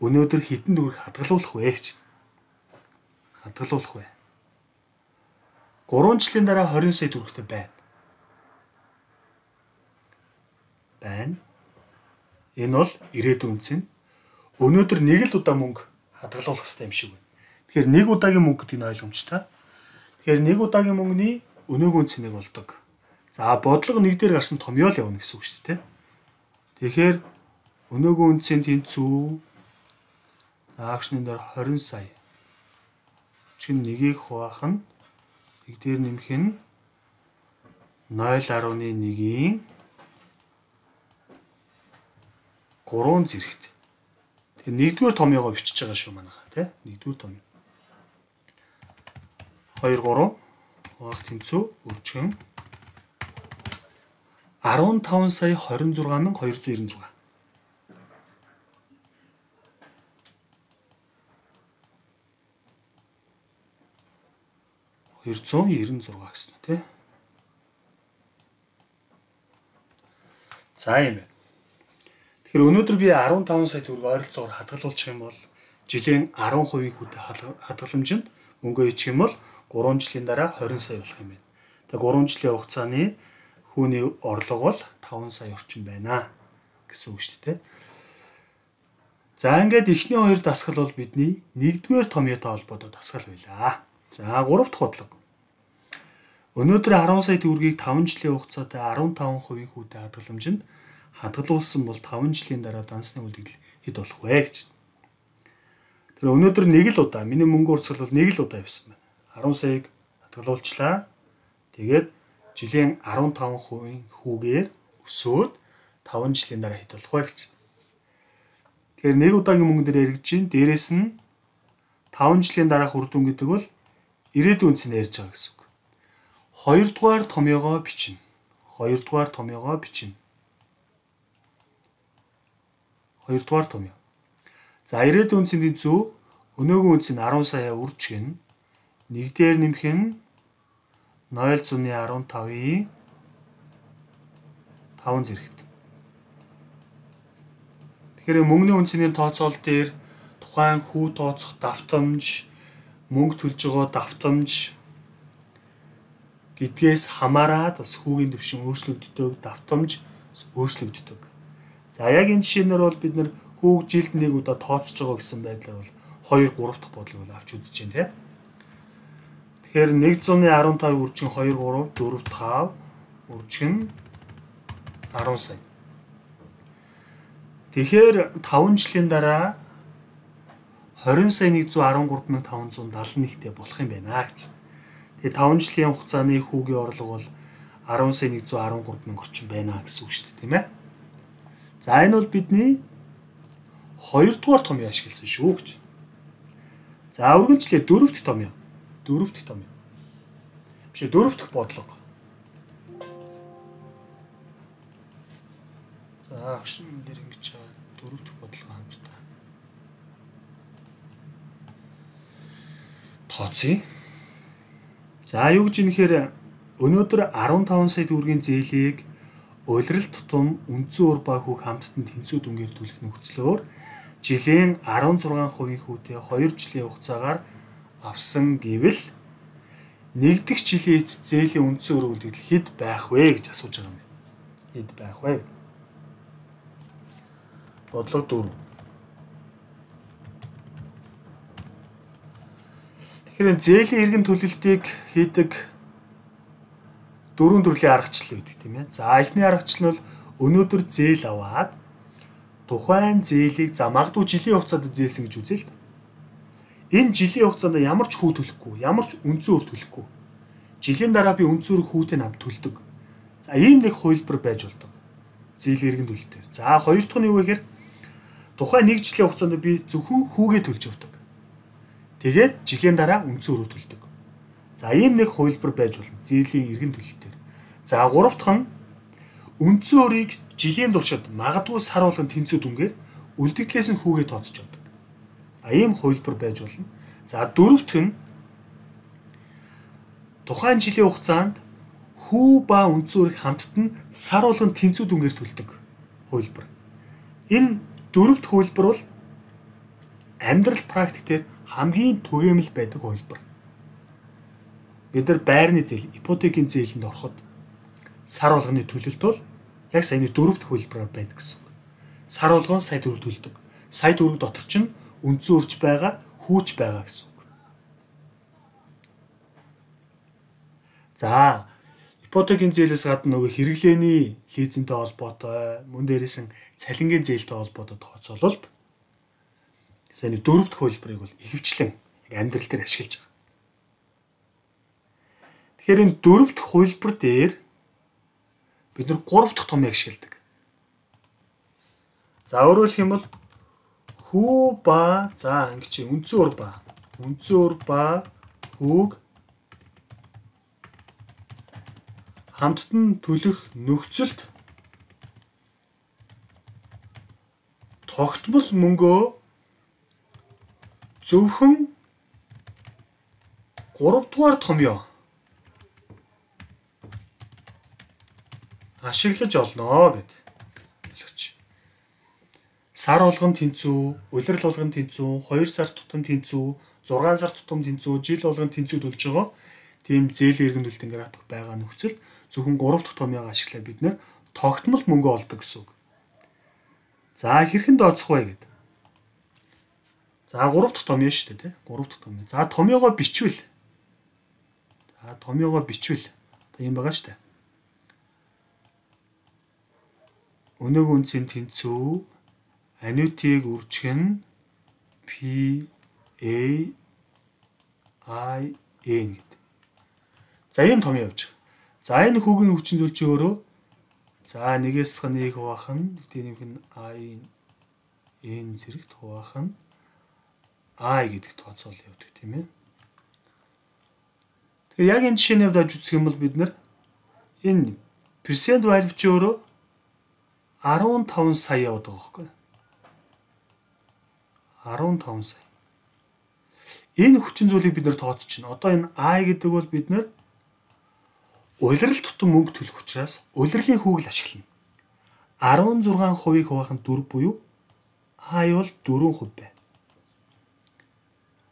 өнөөдөр хэдэн төгрөг хадгалуулах вэ гэж. Хадгалуулах вэ. гурван жилийн дараа хорин сая төгрөгтэй байна. Байна. Энэ бол ирээдүйн үнц нь. Өнөөдөр нэг л удаа мөнгө хадгалуулах хэрэгтэй юм шиг байна. Тэгэхээр нэг удаагийн мөнгө гэдэг нь ойлгомжтой. Тэгэхээр нэг удаагийн мөнгөний өнөөгийн үнц нэг болдог. За бодлого нэг дээр гарсан томьёо л явна гэсэн үг шүү дээ. Тэгэхээр өнөөгийн үнцийн тэнцүү агшны дээр хорин сая. Чин нэгийг хуваах нь нэг дээр нэмэх нь нуль гаруй нэг-ийн гурван зэрэгт. Тэгээ нэгдүгээр томьёогоо бичиж байгаа шүү манайха тий. Нэгдүгээр томьёо. хоёр, гурав хуваах тэнцүү үржих нь арван таван сая хорин зургаан мянга хоёрзуун ирнэ зургаан. хоёрзуун ирнэ зургаан гэсэн үү тий. За юм байна. Тэгэхээр өнөөдөр би арван таван сая төгрөг ойролцоогоор хадгалуулчих юм бол жилийн арван хувийн хүүтэй хадгаламжинд мөнгө ичих юм бол гурван жилийн дараа хорин сая болох юм байна. Тэгээ гурван жилийн хугацааны хүүний орлого бол таван сая орчим байна гэсэн үг шүү дээ. За ингээд эхний хоёр дасгал бол бидний нэгдүгээр томьёотой холбоотой дасгал байлаа. За гурав дахь бодлого. Өнөөдөр арван сая төгрөгийг таван жилийн хугацаатай арван таван хувийн хүүтэй хадгаламжинд хадгалуулсан бол таван жилийн дараа дансны үлдэгдэл хэд болох вэ гэж. Тэр өнөөдөр нэг л удаа миний мөнгө урсгал бол нэг л удаа явсан байна. арван саяг хадгалуулчлаа. Тэгээд жилийн арван таван хувийн хүүгээр өсөөд таван жилийн дараа хэд болох вэ гэж. Тэгэхээр нэг удаагийн мөнгө дээр эргэж чинь дээрэс нь таван жилийн дараах үр дүн гэдэг бол ирээдүйн үнцийг ярьж байгаа гэсэн үг. Хоёрдугаар томьёогоо бичнэ. Хоёрдугаар томьёогоо бичнэ. Хоёрдугаар томьёо. За ирээдүйн үнцийн тэнцүү өнөөгийн үнцийг арван сая үржих нь нэг дээр нэмэх нь нуль зууны арван тавын таван зэрэгт. Тэгэхээр мөнгөний үнцний тооцоол дээр тухайн хүү тооцох давтамж, мөнгө төлж байгаа давтамж гэдгээс хамаарат бас хүүгийн түвшин өөрчлөгддөг, давтамж өөрчлөгддөг. За яг энэ жишээнээр бол бид нэр хүүг жилд нэг удаа тооцож байгаа гэсэн байдлаар бол хоёр, гурав дахь бодлого авч үзэж байна тийм. Тэгэхээр нэг зууны арван тавыг үржих хоёр, гурав, дөрөв, тав үржих нь арван сая. Тэгэхээр таван жилийн дараа хорин сая нэг зуун арван гурав мянган таван зуун далайн нэгтэй болох юм байна гэж. Тэгээ таван жилийн хугацааны хүүгийн орлого бол арван сая нэг зуун арван гурав мянга орчим байна гэсэн үг шүү дээ, тийм ээ. За энэ бол бидний хоёрдугаар томьёо ашигласан шүү гэж. За үргэлжлээ дөрөвт томьёо. Дөрөвт томьёо. Биш дөрөвт бодлого. За агшин дээр ингэж дөрөвт бодлого хамтдаа. Тооцъё. За юу гэж юм нэхэр өнөөдөр арван таван сая төгрөгийн зээлийг улирал тутам үндсэн уур ба хүүг хамттан тэнцүү дүнгээр төлөх нөхцлөөр жилийн арван зургаан хувийн хүүтэй хоёр жилийн хугацаагаар авсан гэвэл нэгдэх жилийн эцэст зээлийн үндсэн уур үлдэгдэл хэд байх вэ гэж асууж байгаа юм. Хэд байх вэ? Бодлого дөрөв. Тэгэхээр зээлийн эргэн төлөлтийг хийдэг дөрвөн төрлийн аргачлал гэдэг тийм ээ. За эхний аргачлал нь бол өнөөдөр зээл аваад тухайн зээлийг за магадгүй жилийн хугацаанд зээлсэн гэж үзье л. Энэ жилийн хугацаанд ямар ч хүү төлөхгүй, ямар ч үндсэн уур төлөхгүй. Жилийн дараа би үндсэн уур хүүтэй хамт төлдөг. За ийм нэг хувилбар байж болдог. Зээлийн эргэн төлөлтөөр. За хоёр дахь нь юу вэ гэхээр тухайн нэг жилийн хугацаанд би зөвхөн хүүгээ төлж явдаг. Тэгээд жилийн дараа үндсэн уур төлдөг. За ийм нэг хувилбар байж болно. Зээлийн эргэн төлөлтөөр. За гурав дахь нь үндсэн уурыг жилийн туршид магадгүй сар болгон тэнцүү дүнгээр үлдэгдлээс нь хүүгээ тооцож явдаг. За ийм хувилбар байж болно. За дөрөвт нь тухайн жилийн хугацаанд хүү ба үндсэн уурыг хамттан сар болгон тэнцүү дүнгээр төлдөг хувилбар. Энэ дөрөвт хувилбар бол амьдрал практикээр хамгийн түгээмэл байдаг хувилбар. Бид нар байрны зээл, ипотекийн зээлэнд ороход сар болгоны төлөлт бол яг саяны дөрөвт хувилбараар байдаг гэсэн үг. Сар болгон сая төгрөг төлдөг. Сая төгрөг дотор чинь үндсэн урж байгаа, хүүч байгаа гэсэн үг. За, ипотекийн зээлээс гадна нөгөө хэрэглээний лизинтэй холбоотой, мөн дээрээс нь цалингийн зээлтэй холбоотой тооцоололт саяны дөрөвт хувилбарыг бол ихэвчлэн амьдрал дээр ашиглаж байгаа. Тэгэхээр энэ дөрөвт хувилбар дээр бид нар гурав дахь томьёог ашигладаг. За өөрөөр хэлэх юм бол хүү ба за ингэ чи үндсэн уур ба үндсэн уур ба хүүг хамттан төлөх нөхцөлд тогтмол мөнгөө зөвхөн гурав дугаар томьёо ашиглаж олно гэд. Ойлгоч. Сар болгон тэнцүү, улирал болгон тэнцүү, хоёр сар тутам тэнцүү, зургаан сар тутам тэнцүү, жил болгон тэнцүү төлж байгаа. Тийм зээлийн эргэн төлөлтийн график байгаа нөхцөл зөвхөн гурав дахь томьёог ашиглаад бид нэр тогтмол мөнгө олдог гэсэн үг. За хэрхэн дооцох вэ гэд. За гурав дахь томьёо шүү дээ, тий? гурав дахь томьёо. За томьёогоо бичвэл. За томьёогоо бичвэл. Одоо юм байгаа шүү дээ. Өнөөг үнцийн тэнцүү аннуитиг үржих нь P A I N гэдэг. За ийм томьёо явж байгаа. За энэ хүүгийн хүчин зүйлч өөрөө за нэгээс нэг хуваах нь тэнийг нь I N зэрэгт хуваах нь I гэдэг тооцоол явдаг тийм ээ. Тэгээ яг энэ жишээний хувьд ажиж үзэх юм бол бид нар энэ percent value чи өөрөө арван таван сая яваад байгаа байхгүй. арван таван сая. Энэ хүчин зүйлийг бид нар тооцож чинь. Одоо энэ I гэдэг бол бид нар улирал тутам мөнгө төлөх учраас улирлын хүүг л ашиглана. арван зургаан хувийг хуваах нь дөрв буюу I бол дөрвөн хувь байна.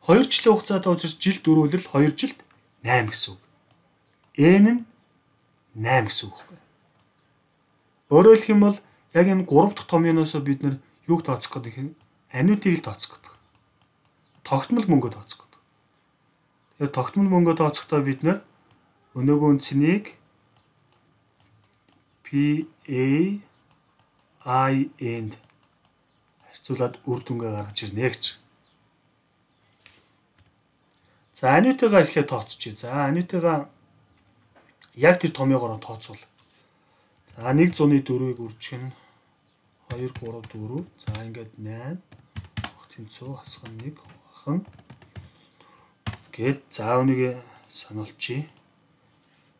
хоёр жилийн хугацаатай учраас жил дөрөв улирал хоёр жилд найм гэсэн үг. N нь найм гэсэн үг байхгүй. Өөрөөр хэлэх юм бол яг энэ гурав дахь томьёоноос бид нар юуг тооцох гэдэг юм? Аннуитиг л тооцох гэдэг. Тогтмол мөнгө тооцох гэдэг. Тэгэхээр тогтмол мөнгө тооцохдоо бид нар өнөөгөө цэнийг P A I N зарцуулаад үр дүнгээ гаргаж ирнэ гэж. За анюутайгаа эхлээд тооцчихъя. За анюутайгаа яг тэр томьёогоор тооцвол. За нэг зуны дөрвийг үржих нь хоёр, гурав, дөрөв. За ингээд найман тэнцүү хасган нэг хувахан гээд за үнийг сануулчих.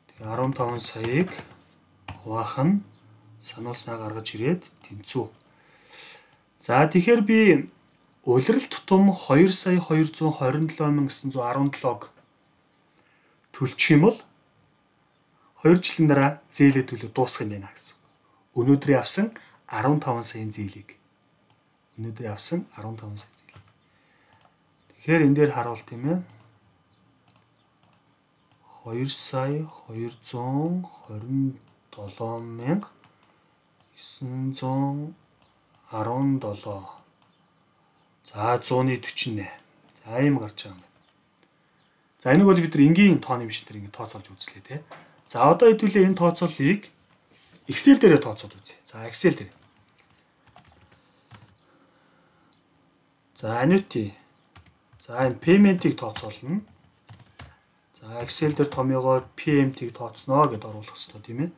Тэгээ арван таван саяыг хувахан сануулснаа гаргаж ирээд тэнцүү. За тэгэхээр би улирал тутам хоёр сая хоёр зуун хорин долоо мянга гэсэн зуун арван долоог төлчих юм бол хоёр жилийн дараа зээлээ төлөө дуусгах юм байна гэсэн. Өнөөдөр авсан арван таван саяын зээлийг. Өнөөдөр авсан арван таван сая зээл. Тэгэхээр энэ дээр харуул тийм ээ. хоёр сая хоёр зуун хорин долоо мянга есөн зуун арван долоо. За зууны дөрвөн найман. За ийм гарч байгаа юм байна. За энийг бол бид нар энгийн тооны машин дээр ингэ тооцоолж үзлээ тий. За одоо хэдүүлээ энэ тооцооллыг Excel дээрээ тооцоод үзье. За Excel дээр. За annuity. За энэ payment-ийг тооцоолно. За Excel дээр томьёогоор P M T-ийг тооцноо гэдээ оруулах хэрэгтэй тийм ээ.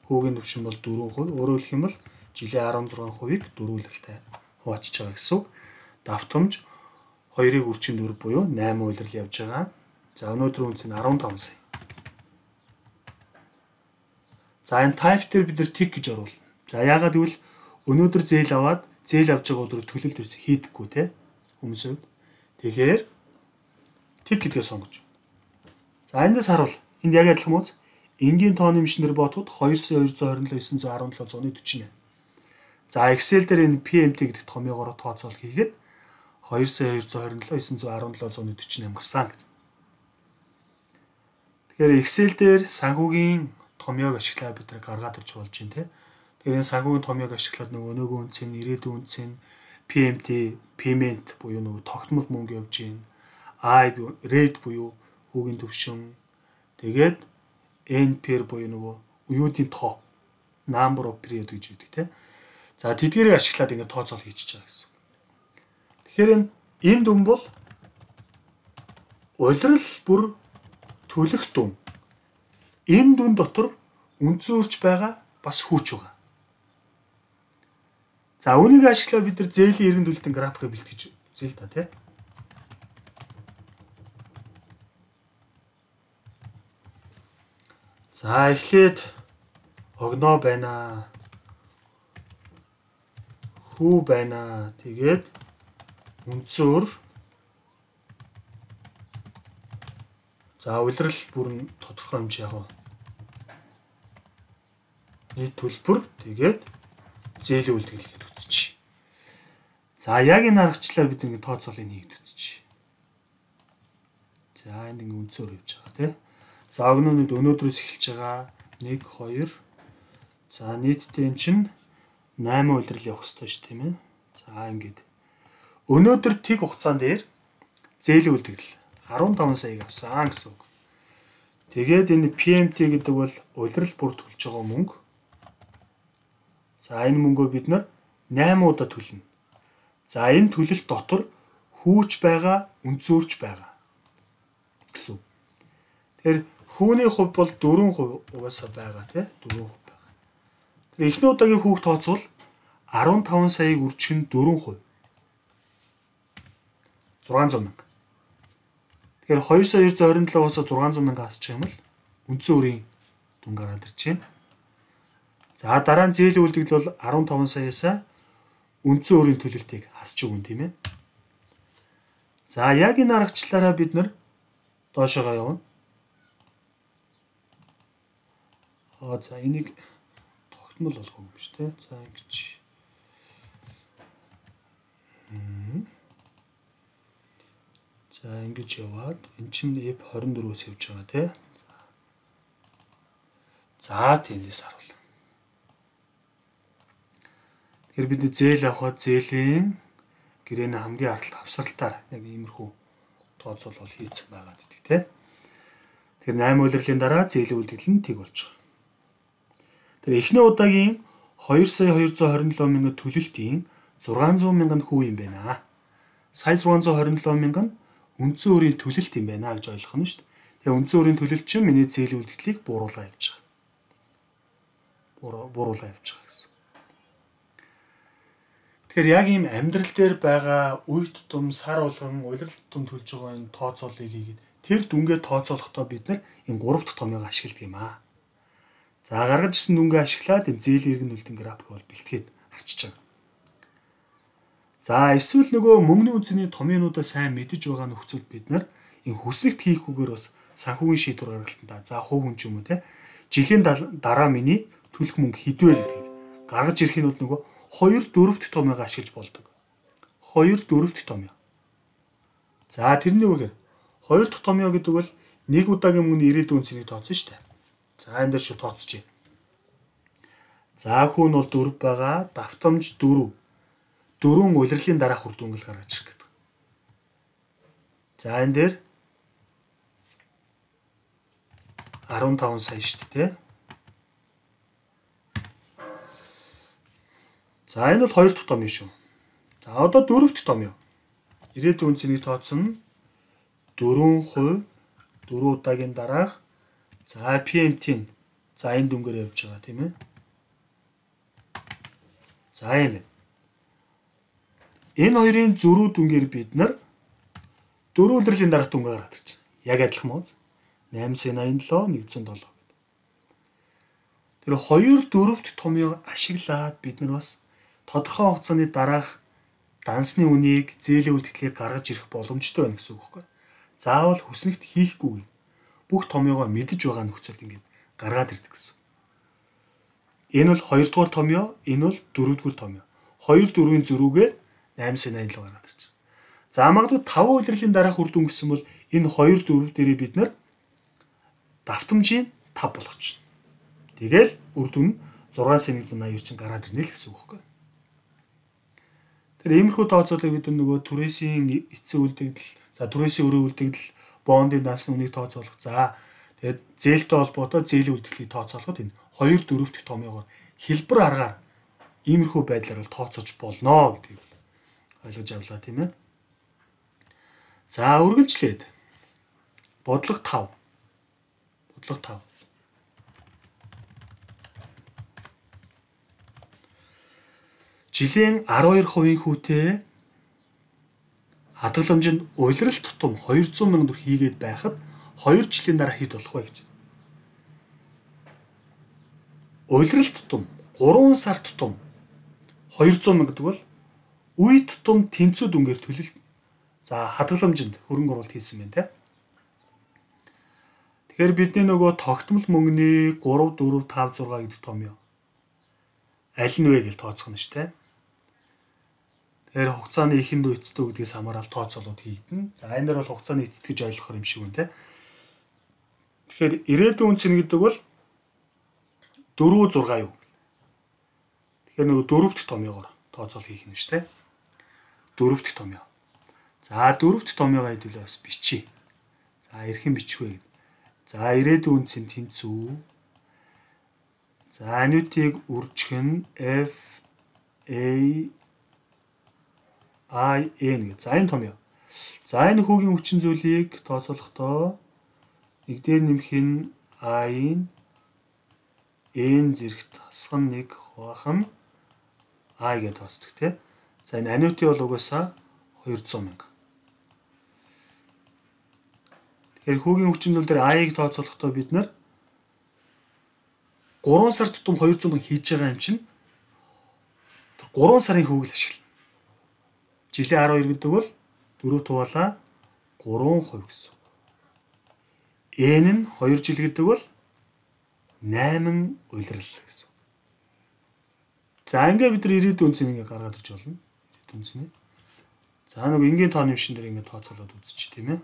Хүүгийн төвшин бол дөрвөн хувь. Өөрөөр хэлэх юм бол жилийн арван зургаан хувийг дөрвөлөлтэй хуваачиж байгаа гэсэн үг. Давтамж хоёрыг үржин дөрв буюу найман улирал явж байгаа. За өнөөдөр үнц нь арван таван сая. За энэ type дээр бид нэр tick гэж оруулна. За яагаад гэвэл өнөөдөр зээл аваад зээл авч байгаа өдрөөр төлөлт төрс хийдэггүй те хүмүүсүүд. Тэгэхээр tick гэдгээ сонгож. За эндээс харуул. Энд яг адилхан мөц энгийн тооны машинээр бодоход хоёр сая хоёр зуун хорин долоо есөн зуун арван долоо зууны дөрвөн. За Excel дээр энэ P M T гэдэг томьёогоор тооцоол хийгээд хоёр сая хоёр зуун хорин долоо есөн зуун арван долоо зууны дөрвөн гарсан гэдэг. Тэгэхээр Excel дээр санхүүгийн томьёог ашиглаад бид нар гаргаад ирж болж байна те. Тэгэхээр энэ санхүүгийн томьёог ашиглаад нөгөө өнөөгийн үнцэн, ирээдүйн үнцэн, P M T, payment буюу нөгөө тогтмол мөнгө явж гин, I rate буюу хүүгийн төвшин, тэгээд N P R буюу нөгөө уюудын тоо, number of period гэж үүдэг те. За тэдгээрийг ашиглаад ингэ тооцоол хийчихэж байгаа гэсэн. Тэгэхээр энэ дүн бол улирал бүр төлөх дүн. Энэ дүн дотор үнцөөрч байгаа бас хүүч байгаа. За үүнийг ашиглаад бид нар зээлийн эргэн төлөлтийн графикыг бэлтгэж үзье л да тий. За эхлээд огноо байна. Хүү байна. Тэгээд үнцөөр. За улирал бүрэн тодорхой хэмжээ яг. Нийт төлбөр тэгээд зээлийн үйлдэл гэж үзчихье. За яг энэ аргачлаар бид ингэ тооцоолыг хийгээд үзчихье. За энд ингэ үнцөөр явж байгаа тий. За огнонууд өнөөдрөөс эхэлж байгаа нэг хоёр. За нийтдээ эн чинь найман улирал явах хэрэгтэй шүү тийм ээ. За ингээд өнөөдөр тэг хугацаан дээр зээлийн үйлдэл арван таван саяг авсан гэсэн үг. Тэгээд энэ P M T гэдэг бол улирал бүр төлж байгаа мөнгө. За энэ мөнгөө бид нар найман удаа төлнө. За энэ төлөлт дотор хүүч байгаа, үнцөөрч байгаа гэсэн. Тэгэхээр хүүний хувь бол дөрвөн хувь угаасаа байгаа тий дөрвөн хувь байгаа. Тэр эхний удаагийн хүүг тооцвол арван таван саяыг үржих нь дөрвөн хувь. зургаан зуун мянга. Тэгэхээр хоёр сая хоёр зуун хорин долоогоос зургаан зуун мянга хасчих юм бол үндсэн өрийн дүн гараад ирж байна. За дараа нь зээлийн үйлдэл бол арван таван саяасаа үндсэн өрийн төлөлтийг хасч өгнө тийм ээ. За яг энэ аргачлалаараа бид нар доошоо явна. Аа за энийг тогтмол болгох юм биш үү? За ингэж. За ингэж яваад эн чинь F двадцать дөрвөөс явж байгаа тий. За тэндээс харуул. Тэгэхээр бид зээл авахад зээлийн гэрээний хамгийн аргалт авсралтаар яг иймэрхүү тооцоол бол хийцэн байгаа гэдэг тий. Тэр найман улирлын дараа зээлийн үйлдэл нь тэг болж байгаа. Тэр эхний удаагийн хоёр сая хоёр зуун хорин долоо мянган төлөлтийн зургаан зуун мянган хүү юм байна. Сая зургаан зуун хорин долоо мянган үндсэн өөрийн төлөлт юм байна гэж ойлгох нь шүү дээ. Тэгээ үндсэн өөрийн төлөлт чинь миний зээлийн үлдэгдлийг бууруулаа явж байгаа. Бууруулаа бууруулаа явж байгаа гэсэн. Тэгэхээр яг ийм амьдрал дээр байгаа үе тутам, сар болгон, улирал тутам төлж байгаа энэ тооцоолыг хийгээд тэр дүнгээ тооцоолохдоо бид нар энэ гурав дахь томьёог ашигладаг юм аа. За гаргаж ирсэн дүнгээ ашиглаад энэ зээлийн эргэн үлдэн график бол бэлтгээд арчиж байгаа. За эсвэл нөгөө мөнгөний үнцний томьёонуудаа сайн мэдэж байгаа нөхцөлд бид нар энэ хүснэгт хийхгүйгээр бас санхүүгийн шийдвэр гаргалтанда за хувь хүн ч юм уу те жилийн дараа миний төлөх мөнгө хэдвэ гэдгийг гаргаж ирэх нь бол нөгөө хоёр дөрөвт томьёог ашиглаж болдог. хоёр дөрөвт томьёо. За тэрний үгээр хоёр дахь томьёо гэдэг бол нэг удаагийн мөнгөний ирээдүйн үнцнийг тооцсон шүү дээ. За энэ дээр шүү тооцчих. За хүү нь бол дөрөв байгаа, давтамж дөрөв. Дөрвөн улирлын дараах үр дүнг гаргаж ирэх гэдэг. За энэ дээр арван таван сая шүү дээ. За энэ бол хоёр дахь томьёо шүү. За одоо дөрөвт томьёо. Ирээдүйн үнцнийг тооцсон дөрвөн хувь дөрвөн удаагийн дараах за пи эм ти-ийн за энэ дүнгээр явж байгаа тийм ээ. За юм байна. Энэ хоёрын зөрүү дүнгээр бид нар дөрвөн улирлын дараах дүнгээ гаргаад ирж байна. Яг адилхан мөн. найман сая наян долоо нэгдсэн долоо гэдэг. Тэр хоёр дөрөвт томьёог ашиглаад бид нар бас тодорхой хугацааны дараах дансны үнийг зээлийн үлдэгдлийг гаргаж ирэх боломжтой байна гэсэн үг байхгүй. Заавал хүснэгт хийхгүйгээр бүх томьёогоо мэдэж байгаа нөхцөлд ингээд гаргаад ирдэг гэсэн. Энэ бол хоёр дахь томьёо, энэ бол дөрөвдүгээр томьёо. хоёр дөрвийн зөрүүгээр найман сая наян долоо гаргаад ирж байна. За магадгүй таван улирлын дараах үр дүн гэсэн бол энэ хоёр дөрөв дээрээ бид нар давтамжийн тав болгож байна. Тэгэл үр дүн зургаан сая нэгдүгээр наяар чинь гараад ирнэ л гэсэн үг байхгүй. Тэр иймэрхүү тооцоолыг бид нөгөө түрээсийн эцсийн үлдэгдэл, за түрээсийн өрөө үлдэгдэл, бондын дансны үнийг тооцоолох. За тэгээд зээлтэй холбоотой зээлийн үлдэгдлийг тооцоолоход энэ хоёр дөрөв дахь томьёогоор хэлбэр аргаар иймэрхүү байдлаар бол тооцоож болно гэдгийг ойлгож авлаа тийм ээ. За үргэлжлээд бодлого тав. Бодлого тав. Жилийн арван хоёр хувийн хүүтэй хадгаламжинд улирал тутам хоёр зуун мянган төгрөг хийгээд байхад хоёр жилийн дараа хэд болох вэ гэж. Улирал тутам гурван сар тутам хоёр зуун мянга гэдэг бол үе тутам тэнцүү дүнгээр төлөлт. За хадгаламжинд хөрөнгө оруулалт хийсэн байна те. Тэгэхээр бидний нөгөө тогтмол мөнгөний гурав, дөрөв, тав, зургаа гэдэг томьёо аль нь вэ гэж тооцох нь шүү дээ. Тэгэхээр хугацааны ихэнд эцэстүү гэдгээс хамаарал тооцоолууд хийгдэн. За энэ дээр бол хугацааны эцэст гэж ойлгохоор юм шиг байна те. Тэгэхээр ирээдүйн үнцэн гэдэг бол дөрөв зургаа юу. Тэгэхээр нөгөө дөрөв дахь томьёогоор тооцоол хийх нь шүү дээ. дөрөв дахь томьёо. За дөрөв дахь томьёогоо хэдүүлээ бас бичиж. За эрхэн бичих вэ? За ирээдүйн үнцэн тэнцүү. За анютыг үржих нь F A I N гэж. За энэ томьёо. За энэ хүүгийн хүчин зүйлийг тооцоолохдоо нэг дээр нэмэх нь I-ын N зэрэгт хасах нь нэг хуваах нь I гэж тооцдог тийм. За энэ анюти бол угаасаа хоёр зуун мянга. Тэгэхээр хүүгийн хүчин зүйл дээр I-ыг тооцоолохдоо бид нар гурван сар тутам хоёр зуун мянга хийж байгаа юм чинь гурван сарын хүүг л ашиглана. Жилийн арван хоёр гэдэг бол дөрөв туваалаа гурван хувь гэсэн. N нь хоёр жил гэдэг бол найман улирал гэсэн. За ингээ бид нар ирээдүйн үнцнийг ингээ гаргаад ирж болно. Ирээдүйн үнцнийг. За нэг энгийн тооны машин дээр ингээ тооцоолоод үзчих тийм ээ.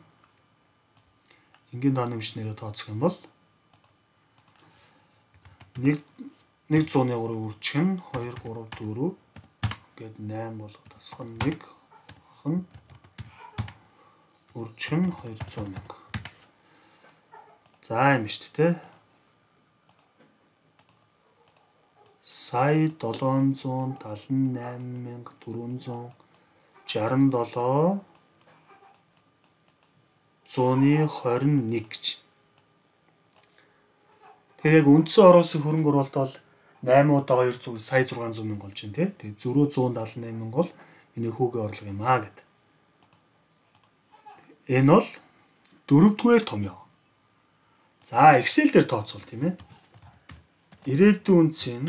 Энгийн тооны машинаараа тооцох юм бол нэг нэг зуун гурав үржих нь хоёр, гурав, дөрөв гээд найман болгоод тасах нь нэг хан үржих нь хоёр зуун мянга. За юм шүү дээ. сая долоон зуун талан найман мянга дөрвөн зуун шаран долоо зууны хорин нэг гэж. Тэр яг үндсэн оруулсан хөрөнгө оруулалт бол найман удаа хоёр зуун сая зургаан зуун мянга болж байна тий. Тэгээд зөрөө зуун талан найман мянга бол миний хүүгийн орлого юм аа гэд. Энэ бол дөрөвдүгээр томьёо. За Excel дээр тооцвол тийм ээ. Ирээдүйн үнцийн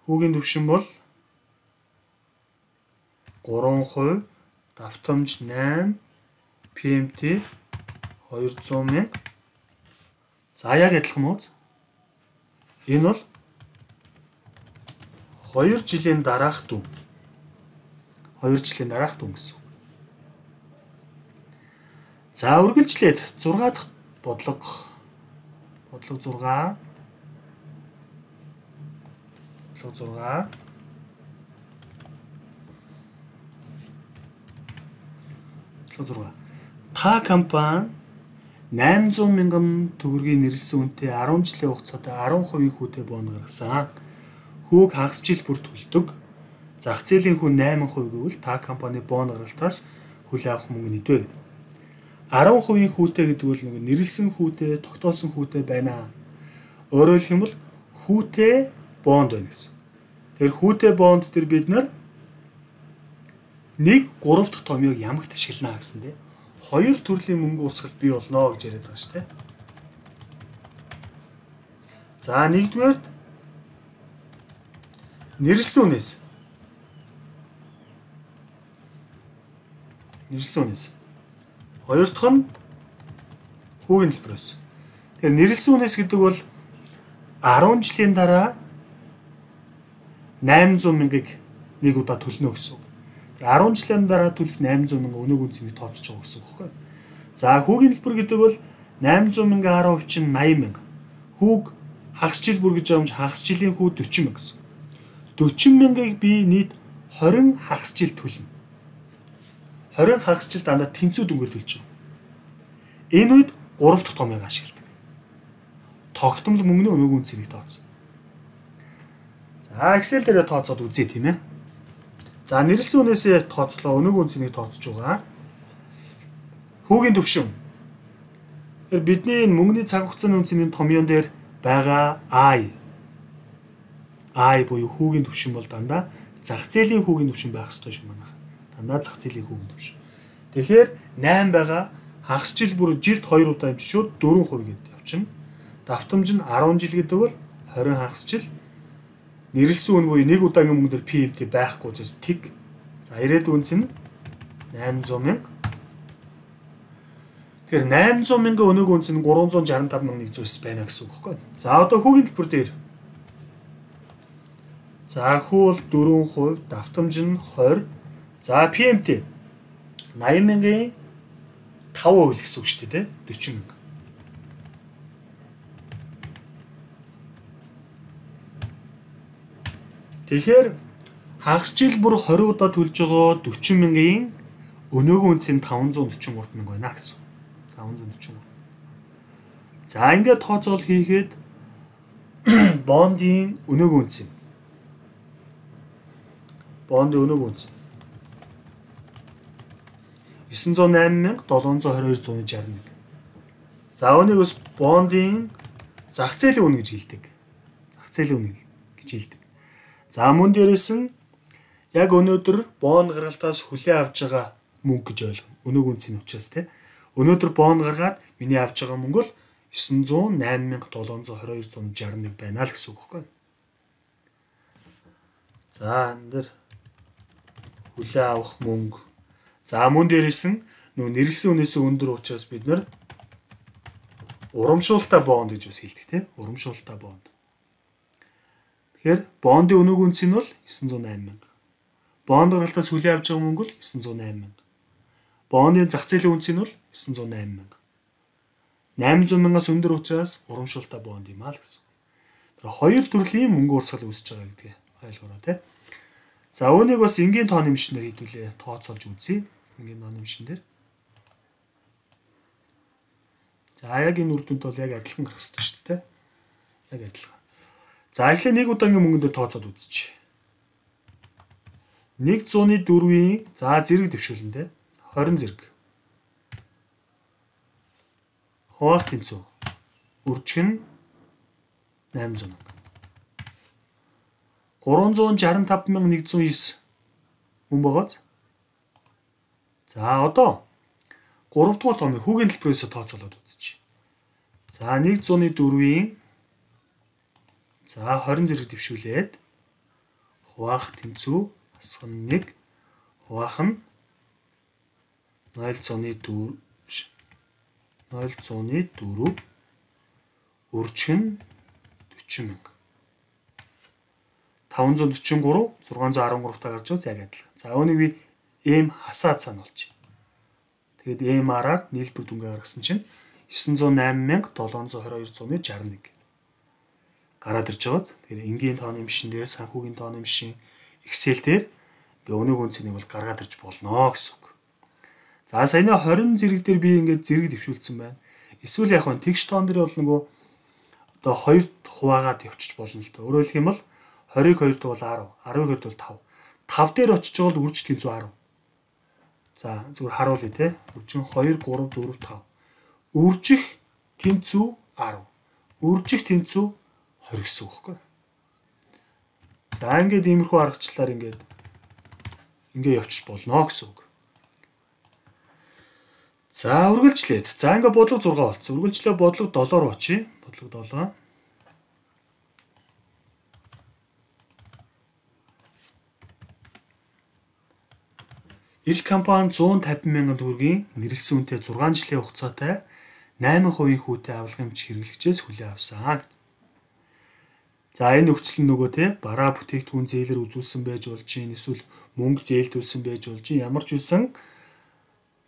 хүүгийн түвшин бол гурван хувь, давтамж найман, пи эм ти хоёр зуун мянга. За яг адилхан уу? Энэ бол хоёр жилийн дараах дүн. хоёр жилийн дараах дүн гэсэн. За үргэлжлээд зургаа дахь бодлого бодлого зургаа бодлого зургаа бодлого зургаа та компани найман зуун мянган төгрөгийн нэрлсэн үнэтэй арван жилийн хугацаанд арван хувийн хүүтэй бонд гаргасан. Хүүг хагас жил бүр төлдөг. Зах зээлийн хүн найман хувь гэвэл та компани бонд гаргалтаас хүлээн авах мөнгө нийтвэ гэдэг. арван хувийн хүүтэй гэдэг бол нэг нэрлсэн хүүтэй, тогтоосон хүүтэй байна. Өөрөөр хэлбэл хүүтэй бонд байна гэсэн. Тэгэхээр хүүтэй бонд дээр бид нар нэг гурав дахь томьёог ямагт ашиглана гэсэн тийм. Хоёр төрлийн мөнгө урсгал бий болно гэж яриад байгаа шүү дээ. За нэгдүгээр нэрлсэн үнээс. Нэрлсэн үнээс. Хоёр дахь нь хүүгийн хэлбэрээс. Тэгэхээр нэрлсэн үнээс гэдэг бол арван жилийн дараа найман зуун мянгаыг нэг удаа төлнө гэсэн үг. арван жилийн дараа төлөх найман зуун мянга өнөөг үнцнийг тооцож байгаа гэсэн үг байхгүй. За хүүгийн хэлбэр гэдэг бол найман зуун мянга арав хувь чинь найман мянга. Хүүг хагас жил бүр гэж байгаа юм чи хагас жилийн хүү дөрвөн мянга гэсэн. дөрвөн мянгаыг би нийт хорин хагас жил төлнө. хорин хагас жил дандаа тэнцүү дүнгээр төлж байгаа. Энэ үед гурав дахь томьёог ашигладаг. Тогтмол мөнгөний өнөөг үнцнийг тооцно. За Excel дээр тооцоод үзье тийм ээ. За нэрлсэн үнээсээ тооцлоо өнөөг үнцнийг тооцож байгаа. Хүүгийн түвшин. Тэгэхээр бидний мөнгөний цаг хугацааны үнцний томьёон дээр байгаа I. I буюу хүүгийн түвшин бол дандаа зах зээлийн хүүгийн түвшин байх ёстой шүү манайх. Дандаа зах зээлийн хүүгийн түвшин. Тэгэхээр найман байгаа хагас жил бүр жилд хоёр удаа юм чи шууд дөрвөн хувь гэдэг явчихна. Давтамж нь арван жил гэдэг бол хорин хагас жил. Нэрлсэн үн буюу нэг удаагийн мөнгө дээр пи эм ти байхгүй учраас тэг. За ирээдүйн үнц нь найман зуун мянга. Тэгэхээр найман зуун мянга өнөөг үнц нь гурван зуун шаран тав мянга нэг зуун байна гэсэн үг байхгүй. За одоо хүүгийн төлбөр дээр. За хүү бол дөрвөн хувь, давтамж нь хоёр. За пи эм ти найман мянгагийн тав хувь гэсэн үг шүү дээ, дөрвөн мянга. Тэгэхээр хагас жил бүр хорин удаа төлж байгаа дөрвөн мянгагийн өнөөгийн үнц нь таван зуун дөрвөн гурав мянга байна гэсэн. таван зуун дөрвөн гурав. За ингээд тооцоол хийхэд бондын өнөөгийн үнц нь бондын өнөөгийн үнц есөн зуун найман мянга долоон зуун хорин хоёр зуун шарна. За үүнийг бас бондын зах зээлийн үнэ гэж хэлдэг. Зах зээлийн үнэ гэж хэлдэг. За мөн дээрээс нь яг өнөөдөр бонд гаргалтаас хүлээн авч байгаа мөнгө гэж ойлгоно. Өнөөгийн үнцийн учраас тийм. Өнөөдөр бонд гаргаад миний авч байгаа мөнгө бол есөн зуун найман мянга долоон зуун хорин хоёр зуун шарна нэг байна л гэсэн үг байхгүй. За энэ дэр хүлээн авах мөнгө. За мөн дээрээс нь нөө нэрлсэн үнээс өндөр учраас бид нэр урамшуулалтаа бонд гэж бас хэлдэг тийм. Урамшуулалтаа бонд. Тэгэхээр бондын өнөөгийн үнц нь бол есөн зуун найман мянга. Бонд гаргалтаас хүлээн авч байгаа мөнгө бол есөн зуун найман мянга. Бондын зах зээлийн үнц нь бол есөн зуун найман мянга. найман зуун мянгаас өндөр учраас урамшуулалтаа бонд юм аа л гэсэн. Тэр хоёр төрлийн мөнгө урсгал үүсэж байгаа гэдгийг ойлгоорой тийм. За үүнийг бас энгийн тооны машинаар хийдүүлээ тооцоолж үзье. Энгийн тооны машин дээр. За яг энэ үр дүнд бол яг адилхан гарах хэрэгтэй шүү дээ. Яг адилхан. За эхлээ нэг удаагийн мөнгөн дээр тооцоод үзье. нэг зуун дөрвийн за зэрэг дэвшүүлэн тэ хорин зэрэг. Хуваах тэнцүү. Үржих нь найман зуун мянга. гурван зуун шаран тав мянга нэг зуун девять мөн байгааз. За одоо гурав дахь томыг хүүгийн хэлбэрээс тооцоолоод үзье. За нэг зуун дөрвийн за хорин зэрэг дэвшүүлээд хуваах тэнцүү асах нь нэг хуваах нь ноёл зуун дөрв ноёл зуун дөрв үржих нь дөрвөн мянга. таван зуун дөрвөн гурав зургаан зуун арван гурав таа гарч байгаа яг адилхан. За үүнийг би эм хасаад цаана болж. Тэгээд эм-аар нийлбэр дүнгээ гаргасан чинь девять зуун найман мянга седем зуун двадцать two зуун шестьдесят one гараад ирж байгааз. Тэгэхээр энгийн тооны машин дээр санхүүгийн тооны машин Excel дээр ингээ өнөөг үнцнийг бол гаргаад ирж болно гэсэн үг. За саяны хорин зэрэг дээр би ингээд зэрэг дэвшүүлсэн байна. Эсвэл яг нь тэгш тоон дээр бол нөгөө одоо хоёр хуваагаад явчих болно л да. Өөрөөр хэлэх юм бол двадцыг хоёрт бол десять, десяыг хоёрт бол five. five дээр очиж байгаа бол үржих тэнцүү ten. За зүгээр харуулъя те. Үржих two, three, four, five. Үржих тэнцүү ten. Үржих тэнцүү twenty гэсэн үг байхгүй. За ингээд иймэрхүү аргачлалаар ингээд ингээ явчих болно гэсэн үг. За үргэлжлээд. За ингээ бодлого six болсон. Үргэлжлээ бодлого seven руу очие. Бодлого seven. Ил компани one fifty мянган төгрөгийн нэрэлсэн үнэтэй six жилийн хугацаатай nine percent хүүтэй авалгын эмч хэрэглэгчээс хүлээн авсан. За энэ нөхцөл нь нөгөө те бараа бүтээгдэхүүн зээлэр үзүүлсэн байж болж чинь эсвэл мөнгө зээлдүүлсэн байж болж чинь ямар ч үсэн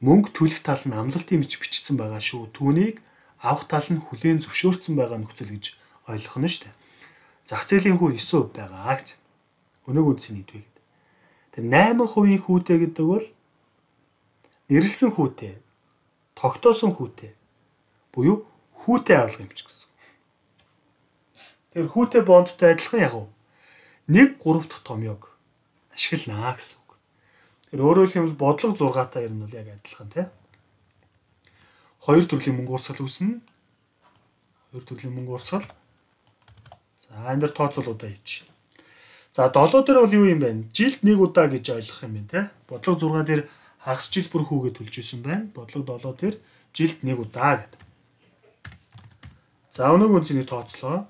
мөнгө төлөх тал нь амлалтын мич бичсэн байгаа шүү. Түүнийг авах тал нь хүлээн зөвшөөрсөн байгаа нөхцөл гэж ойлгох нь шүү дээ. Зах зээлийн хүү nine percent байгаа гэж. Өнөөг үнцний нэгдвэ гэдэг. Тэр nine percent хүүтэй гэдэг бол нэрэлсэн хүүтэй, тогтоосон хүүтэй буюу хүүтэй авалгын эмч гэсэн. Тэр хүүтэй бондтой адилхан яг уу нэг гурав дахь томьёог ашигланаа гэсэн үг. Тэр өөрөөр хэлбэл бодлого six та ер нь бол яг адилхан тий. Хоёр төрлийн мөнгө урсгал үүснэ. Хоёр төрлийн мөнгө урсгал. За энэ дэр тооцоолуудаа хийчих. За seven дээр бол юу юм бэ? Жилд нэг удаа гэж ойлгох юм байна тий. Бодлого six дээр хагас жил бүр хүүгээ төлж исэн байна. Бодлого seven дээр жилд нэг удаа гэдэг. За өнөөгийн үнцнийг тооцлоо.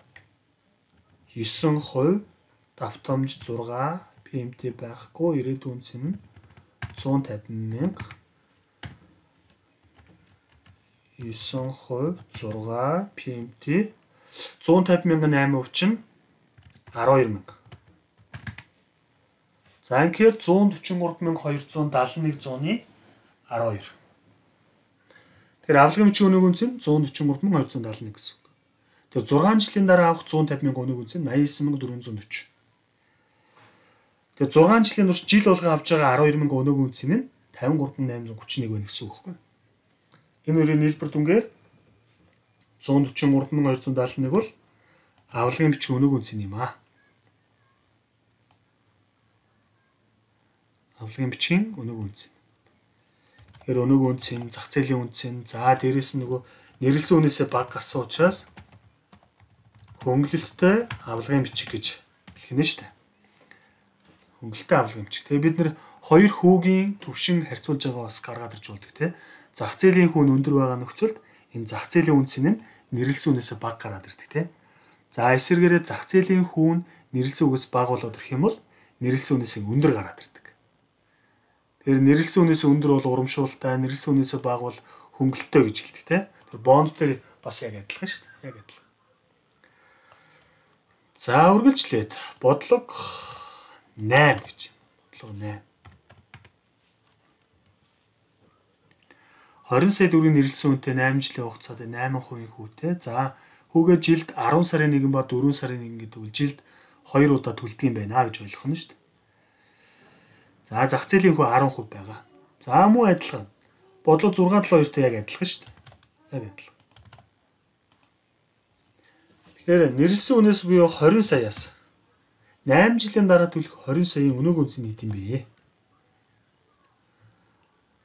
nine percent давтамж six пи эм ти байхгүй ирээдүйн үнц нь one fifty мянга nine percent six пи эм ти one fifty мянга nine percent чинь twelve мянга. За ингээд one forty-three мянга two hundred seventy-one зууны twelve. Тэр авалгын эмчийн өнөөгийн үнц нь one forty-three мянга two hundred seventy-one гэсэн. Тэр six жилийн дараа авах one fifty мянга өнөөгийн үнц нь ninety-nine мянга four hundred forty. Тэр six жилийн турш жил болгон авч байгаа twelve мянга өнөөгийн үнц нь fifty-three thousand eight hundred thirty-one байна гэсэн үг байхгүй. Энэ хоёрын нийлбэр дүнгээр one forty-three мянга two hundred seventy-one бол авалгын эмчийн өнөөгийн үнц юм аа. Авалгын эмчийн өнөөгийн үнц. Тэгэхээр өнөөгийн үнц нь зах зээлийн үнц нь за дээрэс нь нөгөө нэрэлсэн үнээсээ бага гарсан учраас хөнгөлөлттэй авалгын бичиг гэж хэлнэ шүү дээ. Хөнгөлөлттэй авалгын бичиг. Тэгээ бид нэр хоёр хүүгийн төвшин харьцуулж байгаа бас гаргаад ирж болдог тий. Зах зээлийн хүн өндөр байгаа нөхцөлд энэ зах зээлийн үнц нь нэрэлсэн үнээсээ бага гараад ирдэг тий. За эсвэргээрээ зах зээлийн хүн нэрэлсэн үгээс бага болоод ирэх юм бол нэрэлсэн үнээсээ өндөр гараад ирдэг. Тэгэхээр нэрэлсэн үнээсээ өндөр бол урамшуултай, нэрэлсэн үнээсээ бага бол хөнгөлөлттэй гэж хэлдэг тий. Тэр бонд дээр бас яг адилхан шүү дээ. Яг адилхан. За үргэлжлээд бодлого nine гэж. Бодлого nine. twenty сая төгрөгийн нэрэлсэн үнэтэй nine жилийн хугацаанд nine percent хүүтэй. За хүүгээ жилд ten сарын one ба four сарын one гэдэг үл жилд two удаа төлдөг юм байна гэж ойлгох нь шүү дээ. За зах зээлийн хүү ten percent байгаа. За муу адилхан. Бодлого six seven two-тэй яг адилхан шүү дээ. Яг адилхан. Тэгэхээр нэрлсэн үнээс буюу хорин саяас найман жилийн дараа төлөх хорин саяын өнөөгийн үнц нь хэд юм бэ?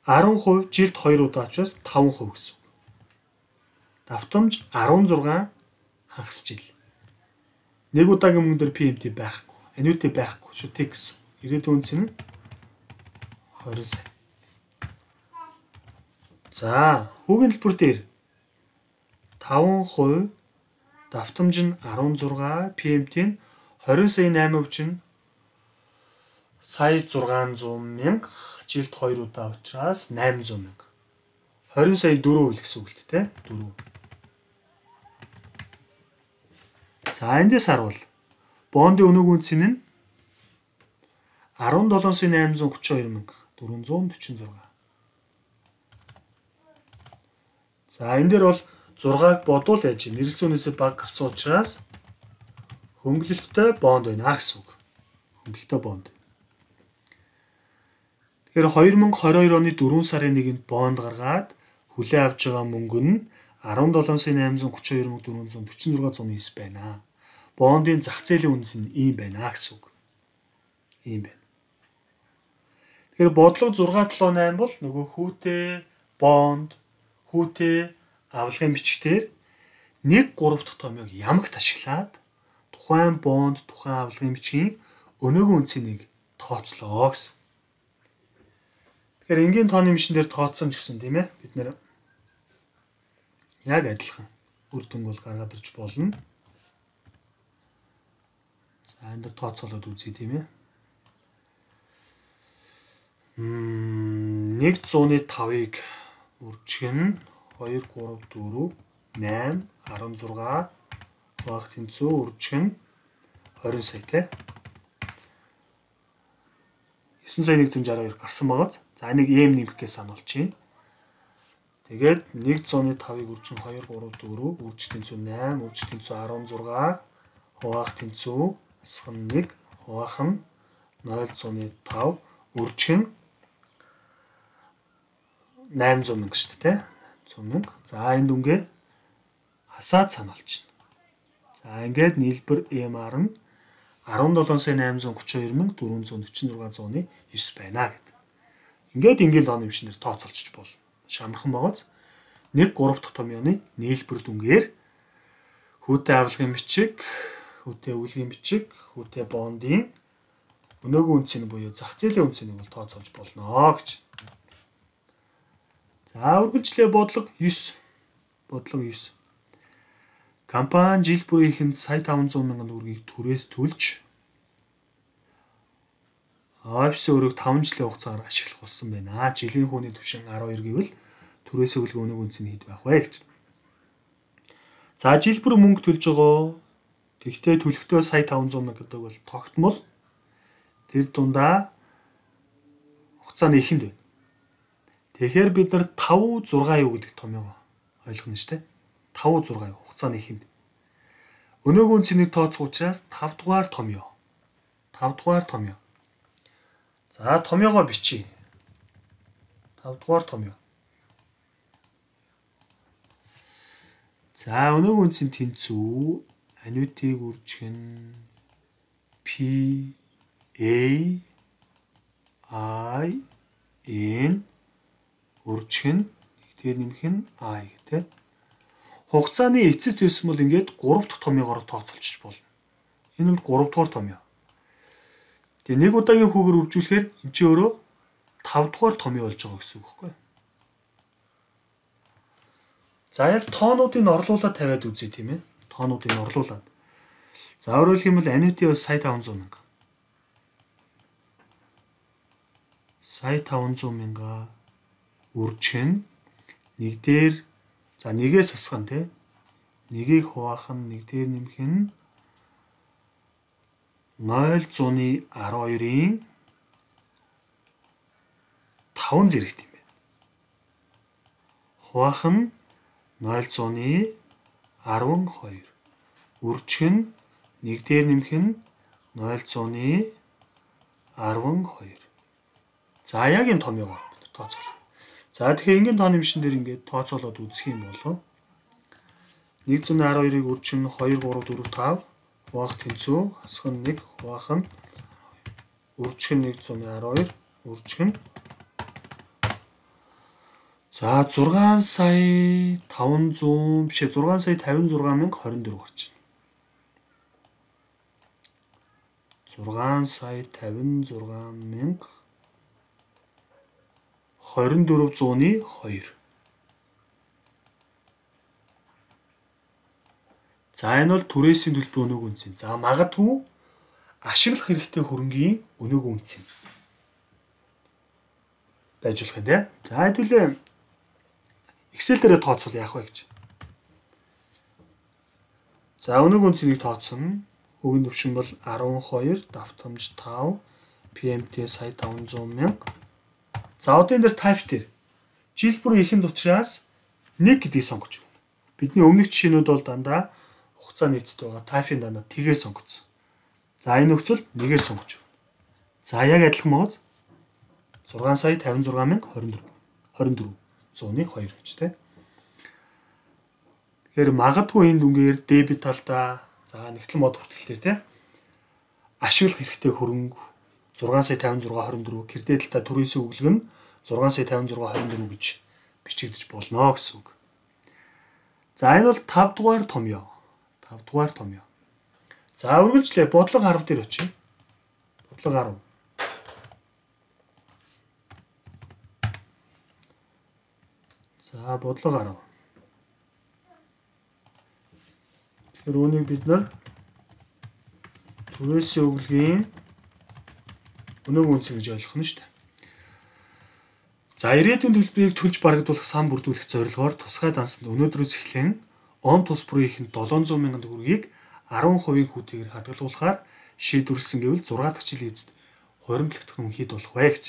арван хувь жилд хоёр удаа учраас таван хувь гэсэн үг. Давтамж арван зургаан хагас жил. Нэг удаагийн мөнгө дээр пи эм ти байхгүй. Аннуити байхгүй шүү тэг гэсэн. Ирээдүйн үнц нь хорин сая. За, хүүгийн төлбөр дээр таван хувь давтамж нь арван зургаан, пи эм ти нь хорин сая найман хувь чинь сая зургаан зуун мянга, жилд хоёр удаа учраас найман зуун мянга. хорин сая дөрөв үл гэсэн үг л дээ, дөрөв. За, эндээс харуул. Бондын өнөөгийн үнц нь арван долоон сая найман зуун гурван хоёр мянга, дөрвөн зуун дөрвөн зургаан. За, энэ дээр бол зургааг бодвол яаж нэрлсэн үнээсээ бага гарсан учраас хөнгөлөлттэй бонд байна гэсэн үг. Хөнгөлөлттэй бонд. Тэгэхээр хоёр мянга хорин хоёр оны дөрвөн сарын нэгэнд бонд гаргаад хүлээн авч байгаа мөнгө нь арван долоон сая найман зуун гурван хоёр мянга дөрвөн зуун дөрвөн зургаан зуун девять байна. Бондын зах зээлийн үнц нь ийм байна гэсэн үг. Ийм байна. Тэгэхээр бодлого зургаан долоо найман бол нөгөө хүүтэй бонд, хүүтэй авлагын бичгээр нэг гурав дахь томьёог ямагт ашиглаад тухайн бонд, тухайн авлагын бичгийн өнөөгийн үнцийг тооцлоо гэсэн. Тэгэхээр энгийн тооны машин дээр тооцсон ч гэсэн тийм ээ бид нэр яг адилхан үр дүнг бол гаргаад ирж болно. За энэ дээр тооцоолоод үзье тийм ээ. Мм нэг зууны тавыг үржих нь хоёр, гурав, дөрөв, найман, арван зургаан багт тэнцүү үржих нь хорин сая тий. девять сая нэг зуун шарвал хоёр гарсан байгаа. За энийг эм нэмэх гэж сануулчих. Тэгээд нэг зууны тавыг үржих хоёр, гурав, дөрөв, үржих тэнцүү найман, үржих тэнцүү арван зургаан, хуваах тэнцүү асган нэг, хуваах нь нуль зууны тав, үржих нь найман зуун мянга шүү дээ тий. зуун мянга. За энэ дүнгээ хасаад сануулж байна. За ингээд нийлбэр эм ар нь арван долоон сая найман зуун гурван хоёр мянга дөрвөн зуун дөрвөн зургаан зууны девять байна гэдэг. Ингээд энгийн тооны машинээр тооцоолчих болно. Шамархан байгааз нэг гурав дахь томьёоны нийлбэр дүнгээр хүүтэй авлагын бичиг, хүүтэй өвлгийн бичиг, хүүтэй бондын өнөөгийн үнцийг буюу зах зээлийн үнцийг бол тооцоолж болно гэж. За үргэлжлээ бодлого девять. Бодлого девять. Компани жил бүрийнхэнд сая таван зуун мянган төгрөгийг түрээс төлж офис өрөөг таван жилийн хугацаагаар ашиглах болсон байна. Жилийн хүүний түвшин арван хоёр гэвэл түрээс өвлгөө өнөөгийн үнц нь хэд байх вэ гэж. За жил бүр мөнгө төлж байгаа. Тэгтээ төлөхдөө сая таван зуун мянга гэдэг бол тогтмол тэр дундаа хугацаа нь ихэнд байна. Тэгэхээр бид нар таван зургаан юу гэдэг томьёо ойлгоно шүү дээ. таван зургаан хугацаа нь ихэнд. Өнөөгийн үнцнийг тооцох учраас тав дугаар томьёо. тав дугаар томьёо. За томьёогоо бичье. тав дугаар томьёо. За өнөөгийн үнцийн тэнцүү аннуитиг үржих нь P A I N үржих нь тэгээд нэмэх нь I гэдэг. Хугацааны эцэс төлсөн бол ингээд гурав дахь томьёогоор тооцоолчих болно. Энэ бол гурав дугаар томьёо. Тэгээ нэг удаагийн хүүгээр үржүүлэхээр энэ ч өөрөө тав дугаар томьёо болж байгаа гэсэн үг байхгүй юу? За яг тоонуудыг орлуулад тавиад үзье тийм ээ. Тоонуудыг орлуулад. За өөрөөр хэлбэл аннуити бол сая таван зуун мянга. сая таван зуун мянга үржих нь нэг дээр за нэгээс асгана тий. Нэгийг хуваах нь нэг дээр нэмэх нь нуль зууны арван хоёрын таван зэрэгт юм байна. Хуваах нь нуль зууны арван хоёр. Үржих нь нэг дээр нэмэх нь нуль зууны арван хоёр. За яг энэ томьёогоо тооцоолъё. За тэгэхээр энгийн тооны машин дээр ингээд тооцоолоод үзэх юм бол нэг зуун арван хоёрыг үржих нь хоёр, гурав, дөрөв, тав хуваах тэнцүү хасах нь нэг хуваах нь үржих нь нэг зуун арван хоёр үржих нь за зургаан сая таван зуун бишээ зургаан сая тавин зургаан мянга хорин дөрөв гарч байна. зургаан сая тавин зургаан мянга хорин дөрөв зууны хоёр. За энэ бол түрээсийн төлбөр өнөөгийн үнц юм. За магадгүй ашиглах хэрэгтэй хөрөнгийн өнөөгийн үнц юм. Байж болох юм тийм. За хэдүүлээ Excel дээр тооцвол яах вэ гэж. За өнөөгийн үнцийг тооцсон. Өгийн төвшин бол арван хоёр, давтамж тав, пи эм ти сая таван зуун мянга. За одоо энэ дээр type дээр жил бүр ихэнд учраас нэг гэдгийг сонгож өгнө. Бидний өмнөх жишээнүүд бол дандаа хугацаа нийцтэй байгаа. Type-ийн дандаа тэгээр сонгоцсон. За энэ нөхцөлд нэгээр сонгож өгнө. За яг адилхан мод зургаан сая тавин зургаан мянга хорин дөрөв хорин дөрөв зууны хоёр гэж тийм. Тэгэхээр магадгүй энэ дүнгээр дебет талдаа за нэгтлэн мод хүртэлтээр тийм ашиглах хэрэгтэй хөрөнгө зургаан сая тавин зургаан хорин дөрөв кредит талдаа түрээсээ өглөг нь зургаан сая тавин зургаан хорин дөрөв гэж бичигдэж болно гэсэн үг. За энэ бол тав дугаар томьёо. тав дугаар томьёо. За үргэлжлээ бодлого арав дээр очие. Бодлого арав. За бодлого арав. Тэгэхээр үүнийг бид нар түрээсээ өглөгийн өнөөгийн үнц гэж ойлгох нь шүү дээ. За ирээдүйн төлбөрийг төлж барагдуулах сан бүрдүүлэх зорилгоор тусгай дансанд өнөөдрөөс эхлэн он тус бүрийн ихэнд долоон зуун мянган төгрөгийг арван хувийн хүүтэйгээр хадгалуулахаар шийдвэрлсэн гэвэл зургаан дахь жилийн эцэст хуримтлагдах нь хэд болох вэ гэж.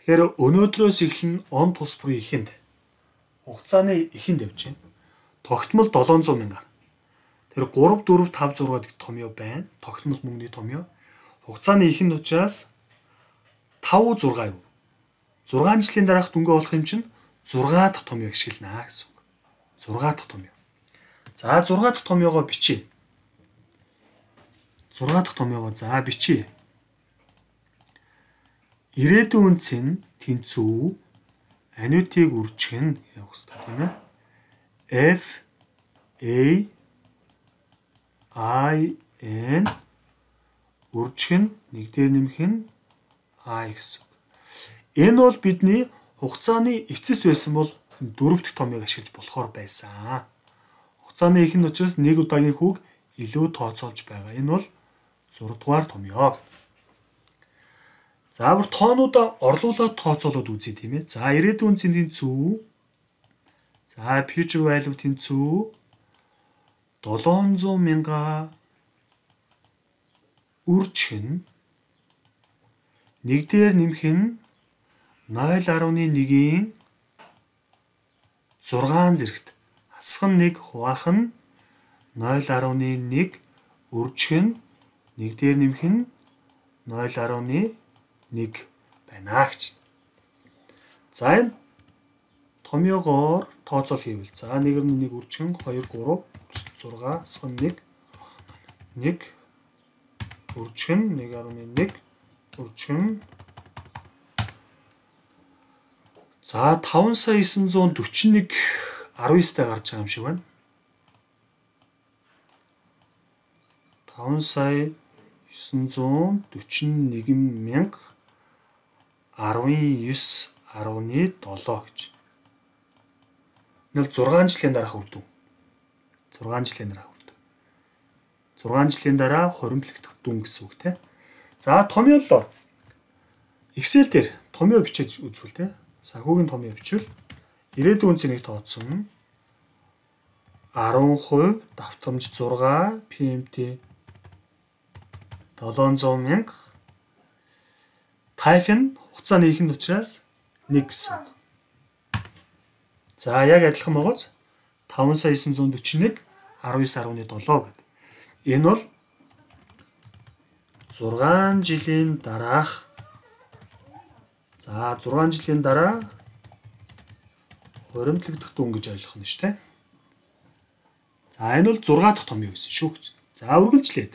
Тэгэхээр өнөөдрөөс эхлэн он тус бүрийн ихэнд хугацааны ихэнд явж байна. Тогтмол долоон зуун мянга. Тэр гурав, дөрөв, тав, зургаа гэх томьёо байна. Тогтмол мөнгөний томьёо. Хугацааны ихэнд учраас тав, зургаа юу? зургаан жилийн дараах дүнгээ болох юм чинь зургаа дахь томьёог ашиглана гэсэн үг. зургаа дахь томьёо. За зургаа дахь томьёогоо бичье. зургаа дахь томьёогоо за бичье. Ирээдүйн үнц нь тэнцүү анюитыг үржих нь явах хэрэгтэй тийм ээ. F A I N үржих нь нэг дээр нэмэх нь I гэсэн. Энэ бол бидний хугацааны эцэст байсан бол дөрөв дэх томьёог ашиглаж болохоор байсан. Хугацааны ихэнд учраас нэг удаагийн хүүг илүү тооцоолж байгаа. Энэ бол зураг дугаар томьёо. За бүр тоонуудаа орлуулад тооцоолоод үзье тийм ээ. За ирээдүйн үнцийн тэнцүү. За future value тэнцүү долоон зуун мянга үржих нь нэг дээр нэмэх нь ноёл арваны нэгийн зургаан зэрэгт хасах нь нэг хуваах нь ноёл арваны нэг үржих нь нэг дээр нэмэх нь ноёл арваны нэг байна гэж. За энэ томьёогоор тооцоол хийвэл за нэг нь нэг үржих нь хоёр, гурав, зургаа, хасах нь нэг нэг үржих нь нэг арваны нэг үржих нь за таван сая есөн зуун дөрвөн нэг арван ёстой гарч байгаа юм шиг байна. таван сая есөн зуун дөрвөн нэг мянга арван ёс арваны долоо гэж. Энэ бол зургаан жилийн дараах үр дүн. зургаан жилийн дараах үр дүн. зургаан жилийн дараа хуримтлагдах дүн гэсэн үг тийм. За томьёолоор Excel дээр томьёо бичиж үзвэл тийм. Санхүүгийн томьёо бичвэл ирээдүйн үнцийг тооцсон арван хувь давтамж зургаа пи эм ти долоон зуун мянга type нь хугацааны ихэнд учраас нэг гэсэн. За яг адилхан байгаач таван сая есөн зуун дөрвөн нэг арван ёс арваны долоо гэдэг. Энэ бол зургаан жилийн дараах за зургаан жилийн дараа хуримтлагдах дүн гэж ойлгох нь шүү дээ. За энэ бол зургаа дахь томьёо гэсэн шүү гэж. За үргэлжлээд.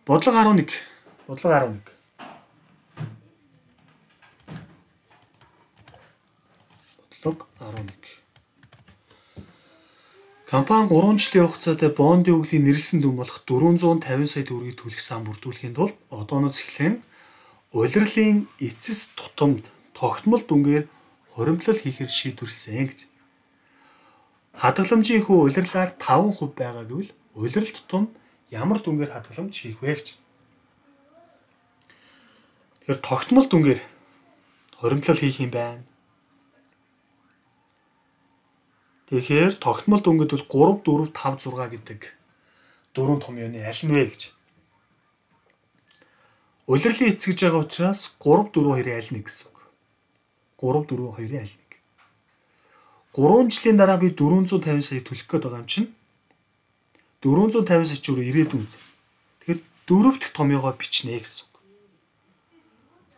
Бодлого арван нэг. Бодлого арван нэг. Бодлого арван нэг. Компани гурван жилийн хугацаанд бондын өглийн нэрлсэн дүн болох дөрвөн зуун тавин сая төгрөгийг төлөх сан бүрдүүлэхийн тулд одооноос эхлэн улирлын эцэс тутамд тогтмол дүнгээр хуримтлал хийхээр шийдвэрлсэн гэж. Хадгаламжийн хүү улирлаар таван хувь байгаа гэвэл улирал тутам ямар дүнгээр хадгаламж хийх вэ гэж. Тэгэхээр тогтмол дүнгээр хуримтлал хийх юм байна. Тэгэхээр тогтмол дүнгэд бол три, four, five, six гэдэг дөрвөн томьёоны аль нь вэ гэж. Улирлын эцэс гэж байгаа учраас три, four, two-ын аль нь гэсэн үг. три, four, two-ын аль нэг. гурван жилийн дараа би дөрвөн зуун тавин сая төлөх гээд байгаа юм чинь дөрвөн зуун тавин сая ч өөр ирээдүйн зэ. Тэгэхээр дөрөвт томьёогоо бичнэ гэсэн үг.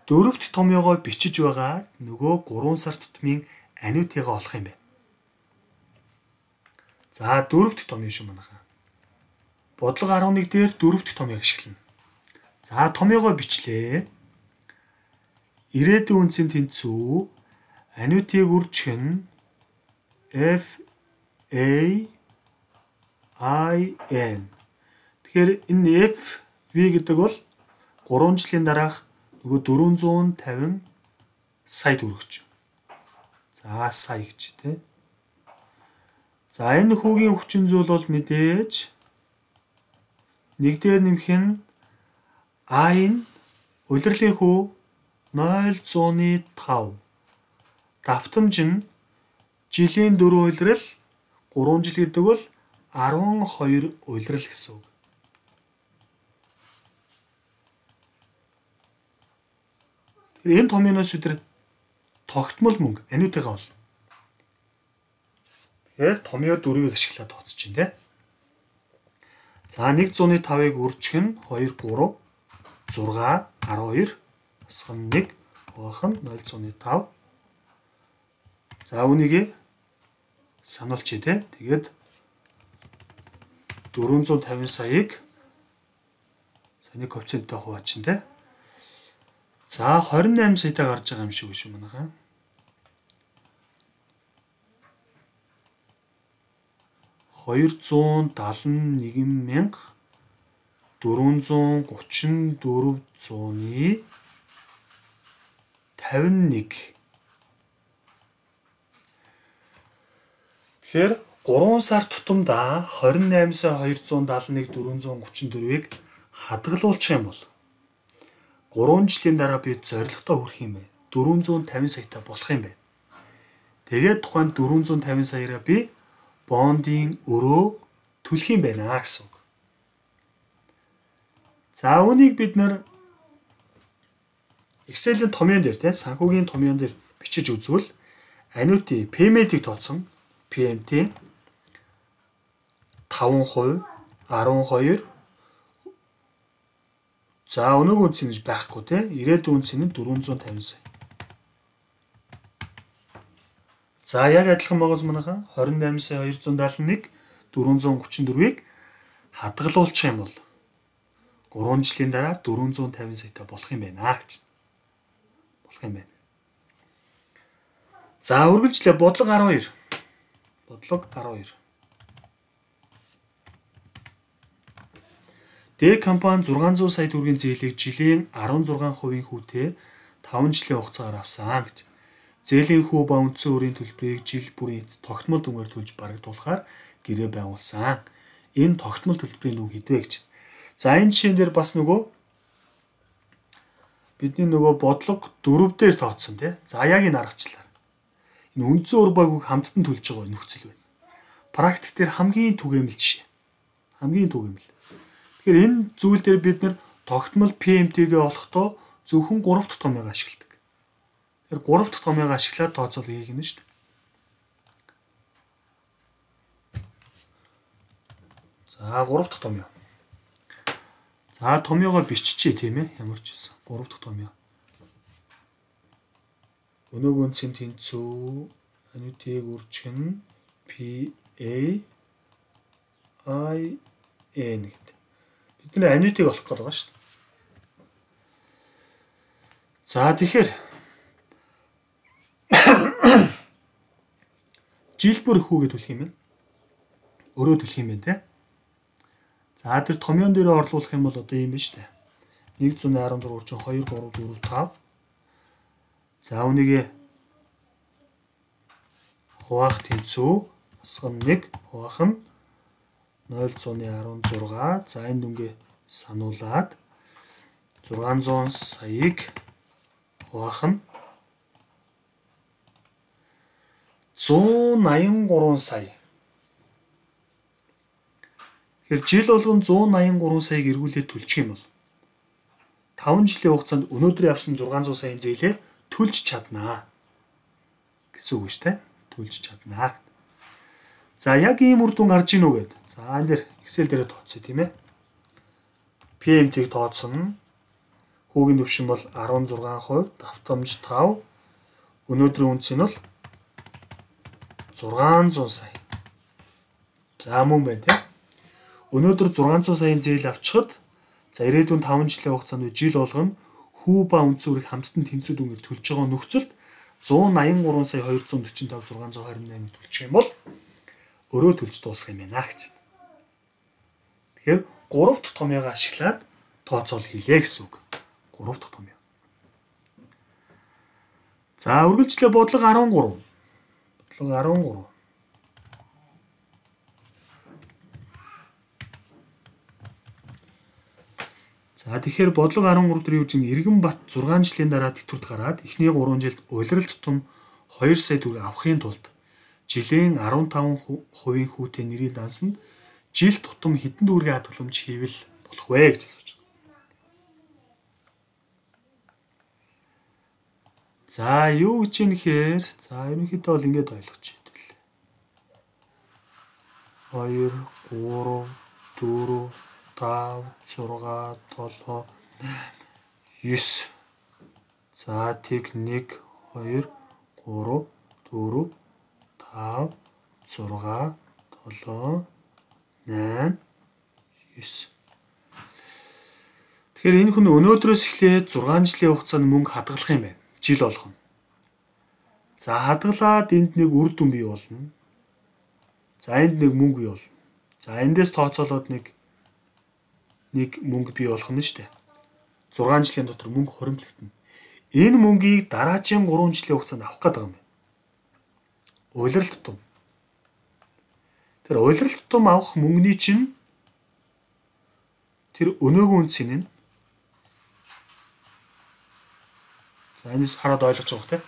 Дөрөвт томьёогоо бичиж байгаа нөгөө гурван сар тутмын аниутыгаа олох юм байна. За дөрөвт томьёо шүү манайхаа. Бодлого арван нэг дээр дөрөвт томьёог ашиглана. За томьёогоо бичлээ. Ирээдүйн үнцийн тэнцүү аниутыг үржих нь F A I N. Тэгэхээр энэ F V гэдэг бол гурван жилийн дараах нөгөө дөрвөн зуун тавин сая төгрөгч. За сая гэж тий. За энэ хүүгийн хүчин зүйл бол мэдээж нэг дээр нэмэх нь I нь улирлын хүү ноёл зуун тавь. Давтамж нь жилийн дөрвөн улирал гурван жил гэдэг бол арван хоёр улирал гэсэн үг. Тэгэхээр энэ томьёоноос өдөр тогтмол мөнгө аниутыгаа бол. Тэгэхээр томьёо дөрвийг ашиглаад тооцож чинь тий. За нэг зуун тавыг үржих нь two, three, six, twelve, асах нь one, хуваах нь ноёл зуун тавь. За үүнийг сануулчих тий. Тэгээд дөрвөн зуун тавин саяыг саяны коэффициенттэй хуваачин тий. За двадцать восемь саятай гарч байгаа юм шиг биш үү манайхаа. двести семьдесят one мянга дөрвөн гучин дөрвөн зууны тавин нэг. Тэгэхээр гурван сар тутамдаа двадцать восемь сая двести семьдесят one дөрвөн гучин дөрвийг хадгалуулчих юм бол гурван жилийн дараа би зорилготой хүрэх юм байна. дөрвөн зуун тавин саятай болох юм байна. Тэгээд тухайн дөрвөн зуун тавин саяараа би бондын өрөө төлөх юм байна гэсэн үг. За үүнийг бид нэр Excel-ийн томьёон дээр тийм санхүүгийн томьёон дээр бичиж үзвэл аниути пэйментийг тооцсон P M T five percent, twelve. За өнөөгийн үнц нь байхгүй тийм ирээдүйн үнц нь дөрвөн зуун тавин сая. За яг адилхан байгаас манайхаа двадцать восемь сая двести семьдесят one дөрвөн гучин дөрвийг хадгалуулчих юм бол гурван жилийн дараа дөрвөн зуун тавин саятай болох юм байна гэж. Болох юм байна. За үргэлжлээ бодлого арван хоёр. Бодлого арван хоёр. Д компани зургаан зуун сая төгрөгийн зээлийг жилийн арван зургаан хувийн хүүтэй таван жилийн хугацаагаар авсан гэж. Зээлийн хүү ба үндсэн өрийн төлбөрийг жил бүрийн тогтмол дүнгээр төлж барагдуулахаар гэрээ байгуулсан. Энэ тогтмол төлбөрийн дүн хэдвэ гэж. За энэ жишээн дээр бас нөгөө бидний нөгөө бодлого дөрөв дээр тооцсон тий. За яг энэ аргачлаар. Энэ үндсэн өр багийг хамттан төлж байгаа нөхцөл байна. Практик дээр хамгийн түгээмэл жишээ. Хамгийн түгээмэл. Тэгэхээр энэ зүйл дээр бид нэр тогтмол P M T-гээ олохдоо зөвхөн гурав дахь томьёог ашигладаг. Тэгэхээр гурав дахь томьёог ашиглаад тооцоол хийх нь шүү дээ. За гурав дахь томьёо. За томьёогоо биччихье тийм ээ. Ямар ч байсан. гурав дахь томьёо. Өнөөгийн үнцийн тэнцүү аниутыг үржих нь P A I N гэдэг. Бидний анитыг олох гээд байгаа шүү дээ. За тэгэхээр жилбэр хүүгээ төлөх юм байна. Өрөө төлөх юм байна те. За тэр томьёон дээр орлуулах юм бол одоо юм байна шүү дээ. нэг зуун арван дөрвөн чинь хоёр гурав дөрвөн тав. За үүнийг хуваах тэнцүү асган нэг хуваах нь нуль зуун арван зураг. За энэ дүнгээ сануулад зургаан зуун саяыг хуваах нь зуун аян гурван сая. Тэгэхээр жил болгон зуун аян гурван саяг эргүүлээд төлчих юм бол таван жилийн хугацаанд өнөөдөр явсан зургаан зуун саяын зээлээ төлж чаднаа гэсэн үг шүү дээ. Төлж чаднаа. За яг ийм үр дүн гарч ийн үү гэд. За энэ дэр Excel дээрээ тооцъё тийм ээ. P M T-г тооцсон. Хүүгийн төвшин бол арван зургаан хувь, давтамж тав. Өнөөдрийн үнц нь бол зургаан зуун сая. За мөн байна тийм. Өнөөдөр зургаан зуун саяын зээл авчихад за ирээдүйн таван жилийн хугацаанд жил болгоно хүү ба үндсүүрийг хамттан тэнцүү дүнгээр төлж байгаа нөхцөлд зуун аян гурван сая хоёр зуун дөрвөн тав зургаан зуун харин восемь төлчих юм бол өрөө төлж дуусах юм байна гэж. Тэгэхээр гурав дахь томьёогоо ашиглаад тооцоол хийлээ гэсэн үг. гурав дахь томьёо. За үргэлжлээ бодлого арван гурав. Бодлого арван гурав. За тэгэхээр бодлого арван гурав дээр юу гэж Эргэнбат зургаан жилийн дараа тэтгэврт гараад эхний гурван жилд улирал тутам хоёр сая төгрөг авахын тулд жилийн арван таван хувийн хүүтэй нэрийн дансанд жил тутам хэдэн төгрөгийн хадгаламж хийвэл болох вэ гэж асууж байгаа. За юу гэж юм гэхээр за ерөнхийдөө бол ингэж ойлгож хэвэл хоёр, гурав, дөрөв, тав, зургаан, долоо, есү. За тэг нэг, хоёр, гурав, дөрөв, тав, зургаан, долоо, найман, есү. Тэгэхээр энэ хүн өнөөдрөөс эхлээд зургаан жилийн хугацаанд мөнгө хадгалах юм байна. Жил болгоно. За хадгалаад энд нэг үр дүн бий болно. За энд нэг мөнгө бий болно. За эндээс тооцоолоод нэг нэг мөнгө бий болох нь шүү дээ. зургаан жилийн дотор мөнгө хуримтлагдана. Энэ мөнгийг дараагийн гурван жилийн хугацаанд авах гэдэг юм байна. Улирал тутам. Тэр улирал тутам авах мөнгөний чинь тэр өнөөгийн үнцийн нь за энэс хараад ойлгож байгаа хэрэг.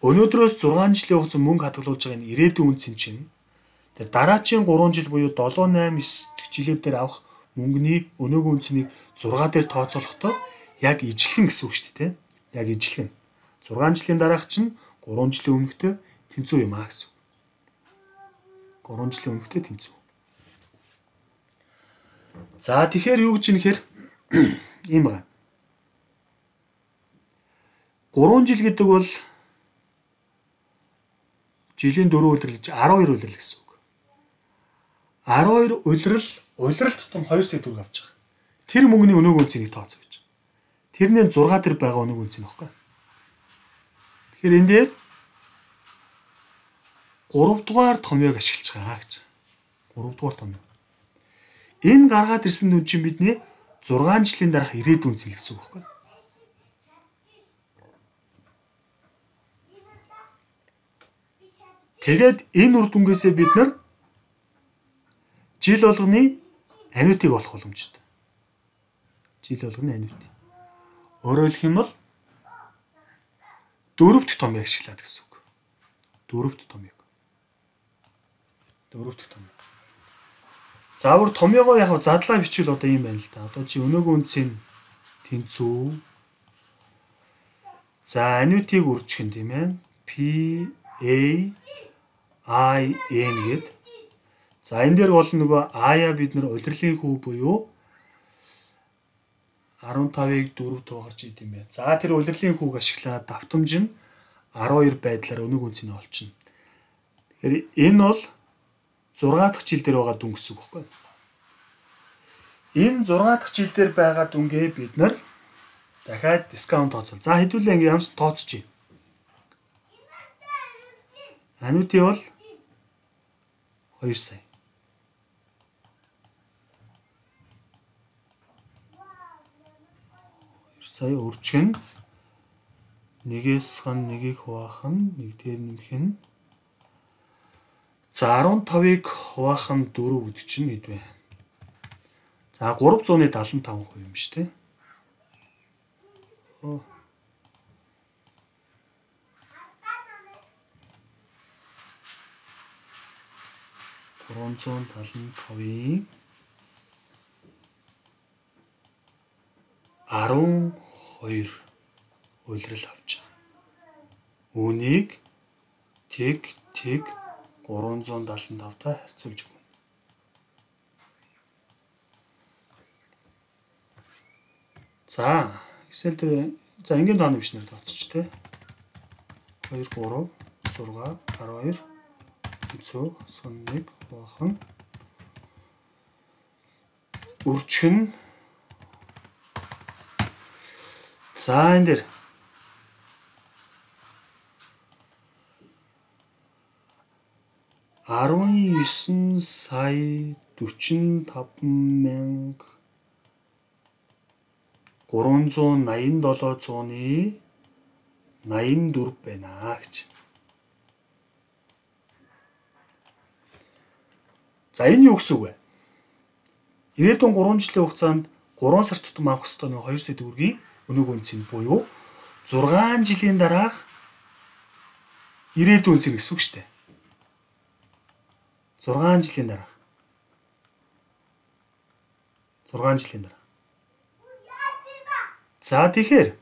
Өнөөдрөөс зургаан жилийн хугацаанд мөнгө хадгалуулж байгаа энэ ирээдүйн үнцийн чинь тэр дараагийн гурван жил буюу долоо, найман, девь жилийн дээр авах мөнгөний өнөөгийн үнцнийг зургаа дээр тооцоолохдоо яг ижилхэн гэсэн үг шүү дээ, тийм. Яг ижилхэн. зургаан жилийн дараах чинь гурван жилийн өмнөхтэй тэнцүү юм аа гэсэн. гурван жилийн өмнөхтэй тэнцүү. За тэгэхээр юу гэж юм нэхэр ийм байна. гурван жил гэдэг бол жилийн дөрөв улирлж арван хоёр улирал гэсэн үг. арван хоёр улирал улирал тутам хоёр сая төгрөг авч байгаа. Тэр мөнгөний өнөөгийн үнцийг тооцоо гэж. Тэрний зургаа дээр байгаа өнөөгийн үнц нь баггүй. Тэгэхээр энэ дээр гурав дугаар томьёог ашиглаж байгаа гэж. гурав дугаар томьёо. Энэ гаргаад ирсэн дүн чинь бидний зургаан жилийн дараах ирээдүйн үнц гэсэн үг баггүй. Тэгээд энэ үр дүнгээсээ бид нар жил болгоны анитыг олох боломжтой. Жил болгоны анит. Өөрөөр хэлэх юм бол дөрөвт томьёог ашиглаад гэсэн үг. Дөрөвт томьёог. Дөрөвт томьёог. Заавар томьёогоо яг задлаа бичвэл одоо юм байна л да. Одоо чи өнөөгийн үнцийн тэнцүү. За анитыг үржих юм тийм ээ. P A I N гэд. За энэ дээр бол нөгөө А-я бид нар улирлын хүү буюу арван тавыг дөрөв туугарч идэм бай. За тэр улирлын хүүг ашиглаад давтамж нь арван хоёр байдлаар өнөг үнцнийг олчихно. Тэгэхээр энэ бол зургаа дахь жил дээр байгаа дүн гэсэн үг байхгүй. Энэ зургаа дахь жил дээр байгаа дүнгээ бид нар дахиад дискаунт тооцол. За хэдүүлээ ингэ ямарч тооцчих. Ануути бол хоёр сая. хоёр сая өрчгөн нэгээс хан нэгийг хуваах нь нэг дээр нэмэх нь за арван тавыг хуваах нь дөрөв гэдэг чинь хэд вэ? За гурав зуун даалан таван хувь юм шүү дээ. гурван зуун даалан тавын арван хоёр уйлрал авч байгаа. Үүнийг тэг тэг гурван зуун даалан тавтай харьцуулж өгнө. За Excel дээр за ингийн тооны бичнээр тооцч тээ. хоёр гурав зургаа арван хоёр хэцүү нэг бахан үрчгэн за энэ дээр арван есөн сая дөрвөн таван мянга гурван зуун найман долоо зууны найман дөрөв байна гэж. За энэ юу гэсэн үг вэ? Ирээдүйн гурван жилийн хугацаанд гурван сар тутам авах ёстой нэг хоёр сая төгрөгийн өнөг үнцэн буюу зургаан жилийн дараах ирээдүйн үнцэн гэсэн үг шүү дээ. зургаан жилийн дараах. зургаан жилийн дараах. За тэгэхээр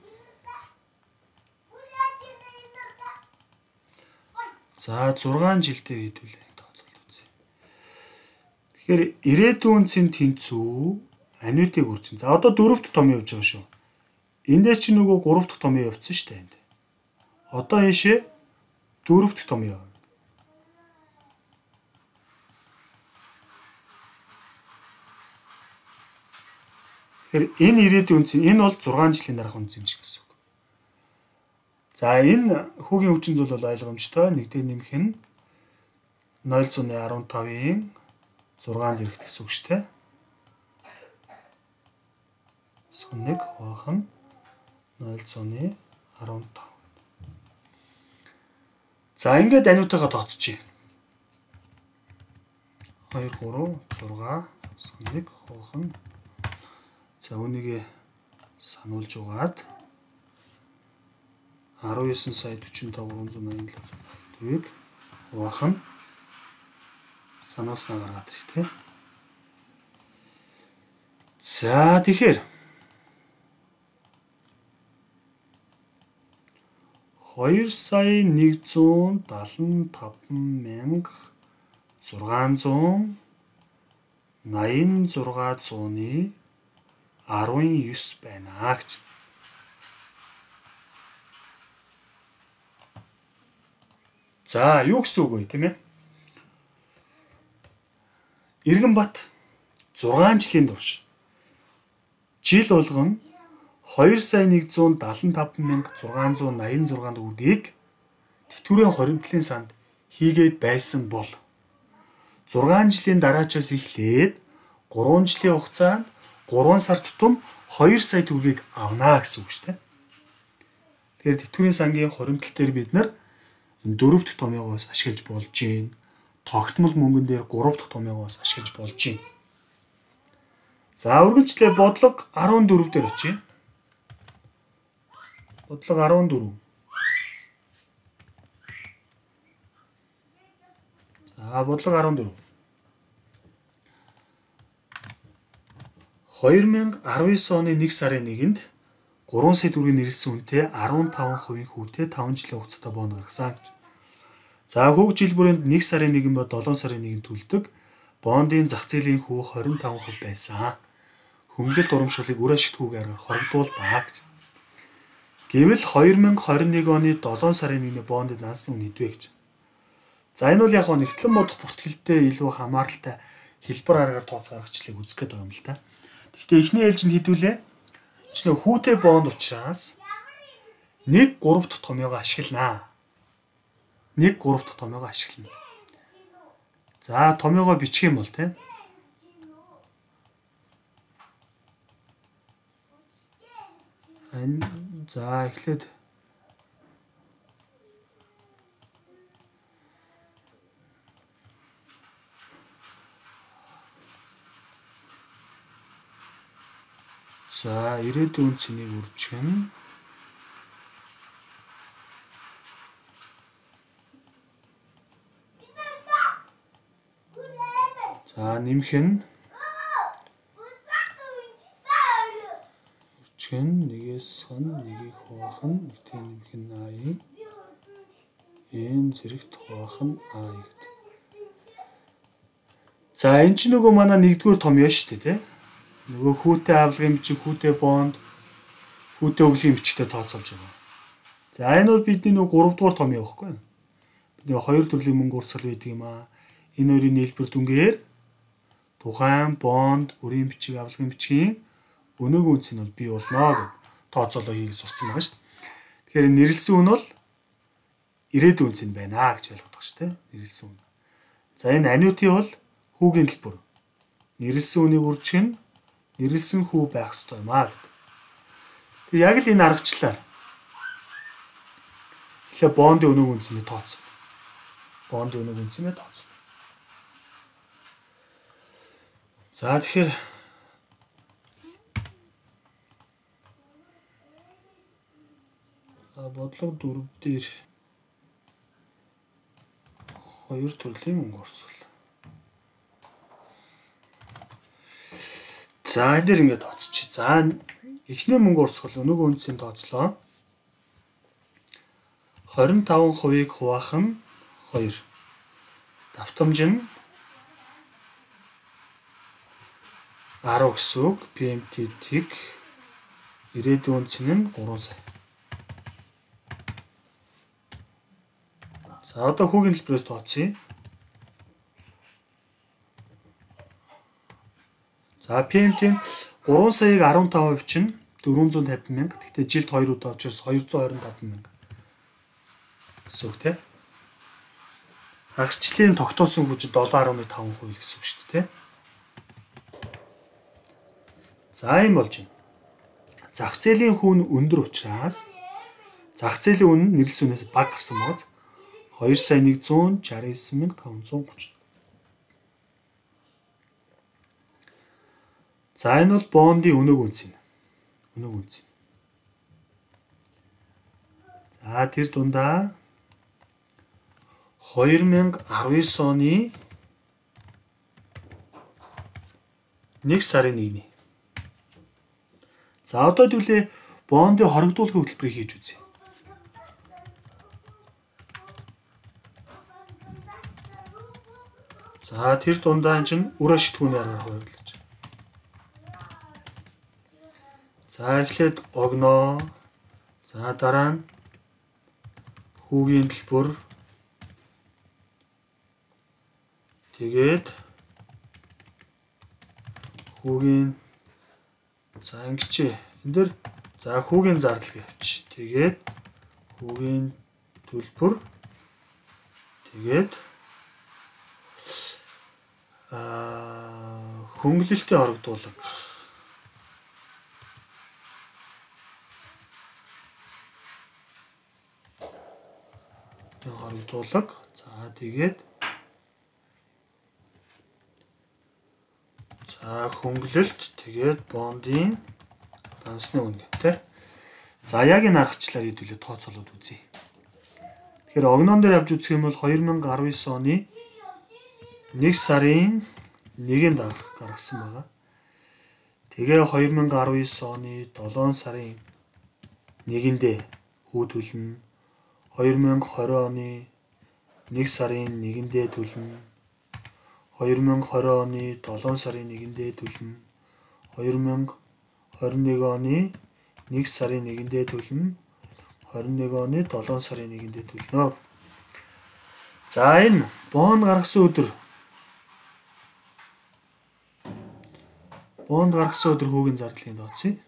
за зургаан жилдээ хэдүүлээ тооцоолт үзье. Тэгэхээр ирээдүйн үнцэн тэнцүү ануитыг үржин. За одоо дөрөвт том явж байгаа шүү. Эндээс чи нөгөө гуравт том явцсан шүү дээ энд. Одоо ийшээ дөрөвт том яв. Тэгэхээр энэ ирээдүйн үнцэн энэ бол зургаан жилийн дараах үнцэн ч гэсэн үг. За энэ хүүгийн хүчин зүйл бол ойлгомжтой. Нэг дээр нэмэх нь нуль зуун арван тавын зургаан зэрэгт гэсэн үг шүү дээ. Нэг хуваах нь нуль зуун арван тав. За ингээд ануутайгаа тооцчих. хоёр гурав зургаа нэг хуваах нь за үүнийг сануулж угаад арван есөн сая дөрвөн таван гурван зуун найман долоо хуваах нь санууснаа гаргаад ирэх тийм. За тэгэхээр хоёр сая нэг зуун даалан таван мянга зургаан зуун найман зургаан зууны арван ёс байна гэж. За юу гэсэн үг вэ тийм ээ? Иргэнбат зургаан жилийн турш жил болгон хоёр сая нэг зуун даалан таван мянга зургаан зуун найман зургаан төгрөгийг тэтгэврийн хоримтлын санд хийгээд байсан бол зургаан жилийн дараачаас эхлээд гурван жилийн хугацаанд гурван сар тутам хоёр сая төгрөгийг авнаа гэсэн үг шүү дээ. Тэгэхээр тэтгэврийн сангийн хоримтлал дээр бид нар энэ дөрөв дахь томьёогоо бас ашиглаж болж гин. Тогтмол мөнгөн дээр гурав дахь томьёогоо бас ашиглаж болж гин. За үргэлжлээ бодлого арван дөрөв дээр очие. Бодлого арван дөрөв. За бодлого арван дөрөв. хоёр мянга арван девять оны нэг сарын нэгэнд гурван сая төгрөгийн нэрэлсэн үнэтэй арван таван хувийн хүүтэй таван жилийн хугацаатай бонд гаргасан гэж. За хүүг жил бүрээнд нэг сарын нэгэн ба долоон сарын нэгэн төлдөг бондын зах зээлийн хүү хорин таван хувь байсан. Хөнгөлөлт урамшуулыг үр ашигтгүйгээр хоригдуулбаа гэж. Гэвэл хоёр мянга хорин нэг оны долоон сарын нэгний бондын нансны үн хэдвэ гэж. За энэ бол яг нь нэгтлэн бодох бүртгэлтэй илүү хамааралтай хэлбэр аргаар тооц гаргачлыг үзэх гээд байгаа юм л да. Гэхдээ эхний ээлжинд хэдүүлээ. Чи нөө хүүтэй бонд учраас нэг гурав дахь томьёогоо ашигланаа. нэг гурав дахь томьёогоо ашиглана. За томьёогоо бичих юм бол тийм. Энэ за эхлээд за ирээдүйн цэнийг үржигнэ. За нэмэх нь үржигнэ. Нэгээс хан нэгийг хуваах нь нэгтэй нэмэх нь ай. Энэ зэрэгт хуваах нь ай гэдэг. За энэ ч нөгөө манай нэгдүгээр томьёо шүү дээ тийм. Нөгөө хүүтэй авлагын бичиг, хүүтэй бонд, хүүтэй өвлийн бичигтэй тооцоолж байгаа. За энэ бол бидний нөгөө гурав дугаар томьёо байхгүй юу? Бидний хоёр төрлийн мөнгө урсгал байдаг юм аа. Энэ хоёрын нийлбэр дүнгээр тухайн бонд, өрийн бичиг, авлагын бичгийн өнөөгийн үнц нь бол бий болно гэж тооцоолоо хийх сурцсан байгаа шүү дээ. Тэгэхээр нэрлсэн үн бол ирээдүйн үнц нь байна гэж ойлгох шүү дээ. Нэрлсэн үн. За энэ анnuity бол хүүгийн төлбөр. Нэрлсэн үнийг үржигнэ. Нэрлсэн хүү байх ёстой юм аа. Тэг яг л энэ аргачлаар эхлээ бондын өнөөгийн үнцнийг тооцоо. Бондын өнөөгийн үнцнийг тооцоо. За тэгэхээр бодлого дөрөв дээр хоёр төрлийн мөнгө орсол. За энэ дэр ингээд тооцчих. За эхний мөнгө урсгал өнөөгийн үнцийн тооцлоо. хорин таван хувийг хуваах нь хоёр. Давтамж нь арав гэсэн үг. пи эм ти тэг ирээдүйн үнц нь гурван сая. За одоо хүүгийн хэлбэрээс тооцъё. За пи эм ти гурван саяыг арван таван хувь чинь дөрвөн зуун тавин мянга. Гэхдээ жилд хоёр удаа учраас хоёр зуун ойрон таван мянга. Гэсэн үг тийм. Хагасчлалын тогтоосон хүч долоо арван таван хувь гэсэн үг шүү дээ. За юм болж байна. Зах зээлийн хүүн өндөр учраас зах зээлийн үн нэрлсэн үнээс бага гарсан бод хоёр сая нэг зуун шарсан эсен мянга таван зуун гурван. За энэ бол бондын өнөөгийн үнц нь. Өнөөгийн үнц. За тэр дундаа хоёр мянга арван девять оны нэг сарын нэгний. За одоо хэдүүлээ бондын хоригдуулахын хөтөлбөрийг хийж үзье. За тэр дундаа чинь үр ашигтгүүний аргаар хуваарлаж. За эхлээд огноо. За дараа нь хүүгийн төлбөр. Тэгээд хүүгийн за ингэчээ. Энд дэр за хүүгийн зардал гэвч. Тэгээд хүүгийн төлбөр. Тэгээд аа хөнгөлөлтөд хоригдуулга. Хоригдуулга. За тэгээд за хөнгөлөлт тэгээд бондын дансны үн гэдэг. За яг энэ аргачлаар хэдүүлээ тооцоолоод үзье. Тэгэхээр огноон дээр авч үзэх юм бол хоёр мянга арван девять оны нэг сарын нэгэн дарах гаргасан байгаа. Тэгээ хоёр мянга арван девять оны долоон сарын нэгэндээ хүү төлнө. хоёр мянга двадцать оны нэг сарын нэгэндээ төлнө. хоёр мянга двадцать оны долоон сарын нэгэндээ төлнө. хоёр мянга двадцать нэг оны нэг сарын нэгэндээ төлнө. двадцать нэг оны долоон сарын нэгэндээ төлнө. За энэ бонд гаргасан өдөр бонд гаргасан өдөр хүүгийн зардлын тооцъё.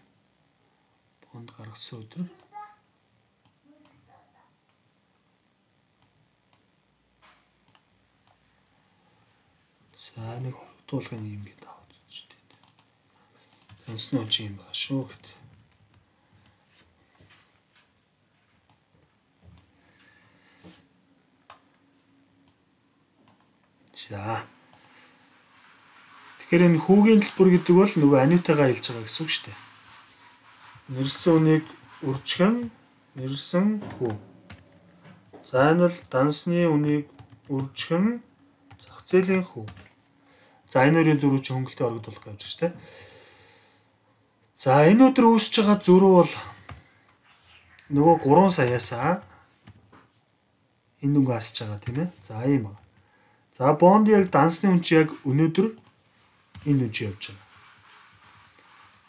Бонд гаргасан өдөр За нэг хоригдуулгын юм гээд аваад үзэж дээ. Таньсны үн чи юм байна шүү гэд. За. Тэгэхээр энэ хүүгийн төлбөр гэдэг бол нөгөө аниутайгаа хэлж байгаа гэсэн үг шүү дээ. Нэрлсэн үнийг үржихэн нэрлсэн хүү. За энэ бол дансны үнийг үржихэн зах зээлийн хүү. За энэ хоёрын зөрүү чи хөнгөлтэй орогдуулах гэж байна шүү дээ. За энэ өдөр үүсэж байгаа зөрүү бол нөгөө гурван саяасаа энэ дүнгээ асж байгаа тийм ээ. За ийм байна. За бонд яг дансны үн чи яг өнөөдөр энэ үн чи явж байгаа.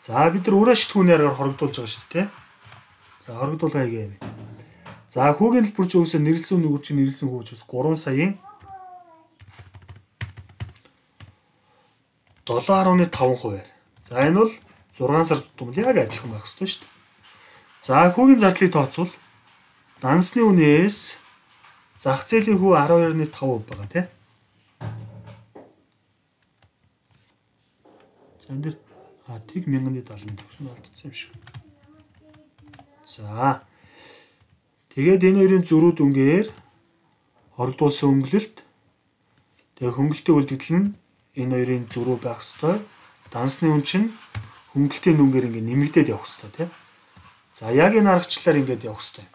За бид нар өөрөө шитгүүний аргаар хорогдуулж байгаа шүү дээ. За хорогдуулгаа хийгээе. За хүүгийн төлбөр чи үсээ нэрлсэн үнийг чи нэрлсэн хүү ч бас гурван саяын долоо гаруй таван хувиар. За энэ бол зургаан сар тутам яг адилхан байх ёстой шүү дээ. За хүүгийн зардлыг тооцвол дансны үнээс зах зээлийн хүү арван хоёр нугtaan таван хувь байгаа тийм. За энэ дэр а тэг мянган седемдесет төгрөг алдсан юм шиг. За тэгээд энэ хоёрын зөрүүд үнгээр хоригдуулсан өнгөлөлт тэгээд хөнгөлтийн үлдэгдэл нь энэ хоёрын зөрүү байх ёстой. Дансны үн чинь хөнгөлтийн үнгээр ингэ нэмэгдээд явах ёстой тийм. За яг энэ аргачлалаар ингэж явах ёстой.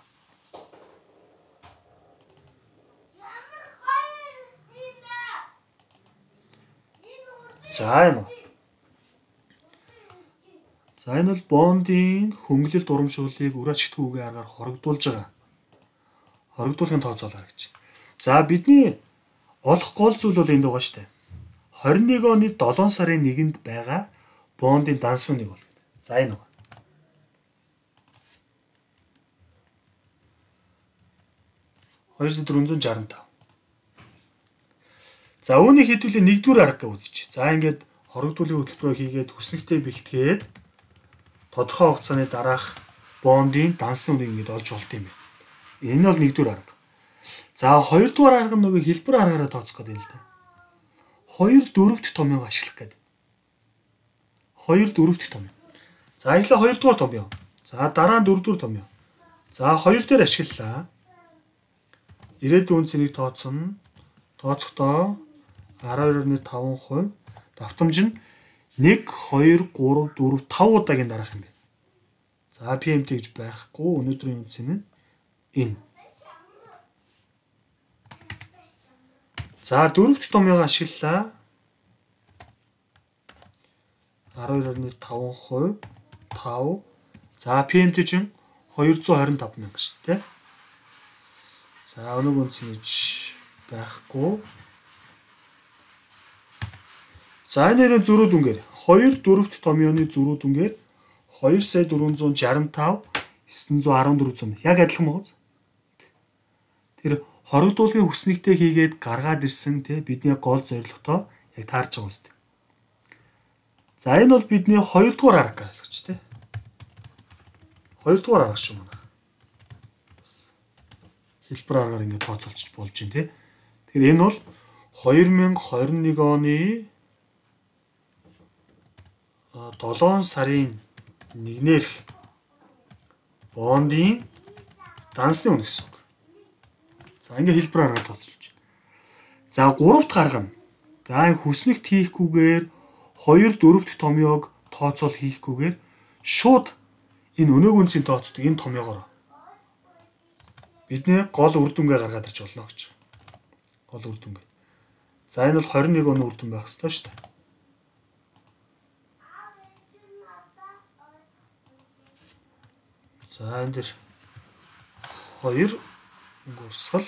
За юм. За энэ бол бондын хөнгөлөлт урамшууллыг үр ашигтгүйгийн аргаар хоригдуулж байгаа. Хоригдуулгын тооцоолоо гэж байна. За бидний олох гол зүйл бол энд байгаа шүү дээ. двадцать och оны долоон сарын нэгэнд байгаа бондын данс үнийг бол. За энэ байна. хоёр сая дөрвөн зуун шарсан тав. За үүнийг хэдүүлээ нэгдүгээр арга гэж үзчих. За ингээд хоригдуулгын хөтөлбөрөөр хийгээд хүснэгтэй бэлтгээд тодорхой хугацааны дараах бондын дансны үнийг ингэж олж болт юм байна. Энэ бол нэгдүгээр арга. За хоёрдугаар арга нь нөгөө хэлбэр аргаараа тооцох гэдэг юм л да. хоёр дөрөвт томьёог ашиглах гэдэг. хоёр дөрөвт томьёо. За эхлээ хоёрдугаар томьёо. За дараа нь дөрөвдүгээр томьёо. За хоёр дээр ашиглалаа. Ирээдүйн үнцнийг тооцно. Тооцохдоо арван хоёр нугtaan таван хувь давтамж нь нэг хоёр гурав дөрөв тав удаагийн дараах юм байна. За пи эм ти гэж байхгүй. Өнөөдрийн үнц нь энэ. За дөрөвт томьёог ашиглалаа. арван хоёр нугtaan таван хувь тав. За пи эм ти чинь хоёр зуун хорин тав мянга шүү дээ. За өнөөгийн үнц нь байхгүй. За энэ хоёрын зөрүүд үнгээр хоёр дөрөвт томьёоны зөрүүд үнгээр хоёр сая дөрвөн зуун шарсан тав есөн зуун арван дөрөв зуун яг адилхан байгаа. Тэр хоригдуулгын хүснэгтэй хийгээд гаргаад ирсэн те бидний гол зорилготой яг таарч байгаа үстэй. За энэ бол бидний хоёрдугаар арга гэж те. Хоёрдугаар арга шүү манай. Хэлбэр аргаар ингээд тооцоолчих болж байна те. Тэгэхээр энэ бол две тысячи двадцать one оны долоон сарын нэгнээс бондын дансны үн гэсэн үг. За ингээ хэлбэр аргаар тооцоолж байна. За гуравт гарга нь. За хүснэгт хийхгүйгээр хоёр дөрөвт томьёог тооцоол хийхгүйгээр шууд энэ өнөөгийн үнцийг тооцдог энэ томьёогоор бидний гол үр дүнгээ гаргаад ирч болно гэж. Гол үр дүнгээ. За энэ бол двадцать one оны үр дүн байх ёстой шүү дээ. За энэ дэр хоёр гурсгал.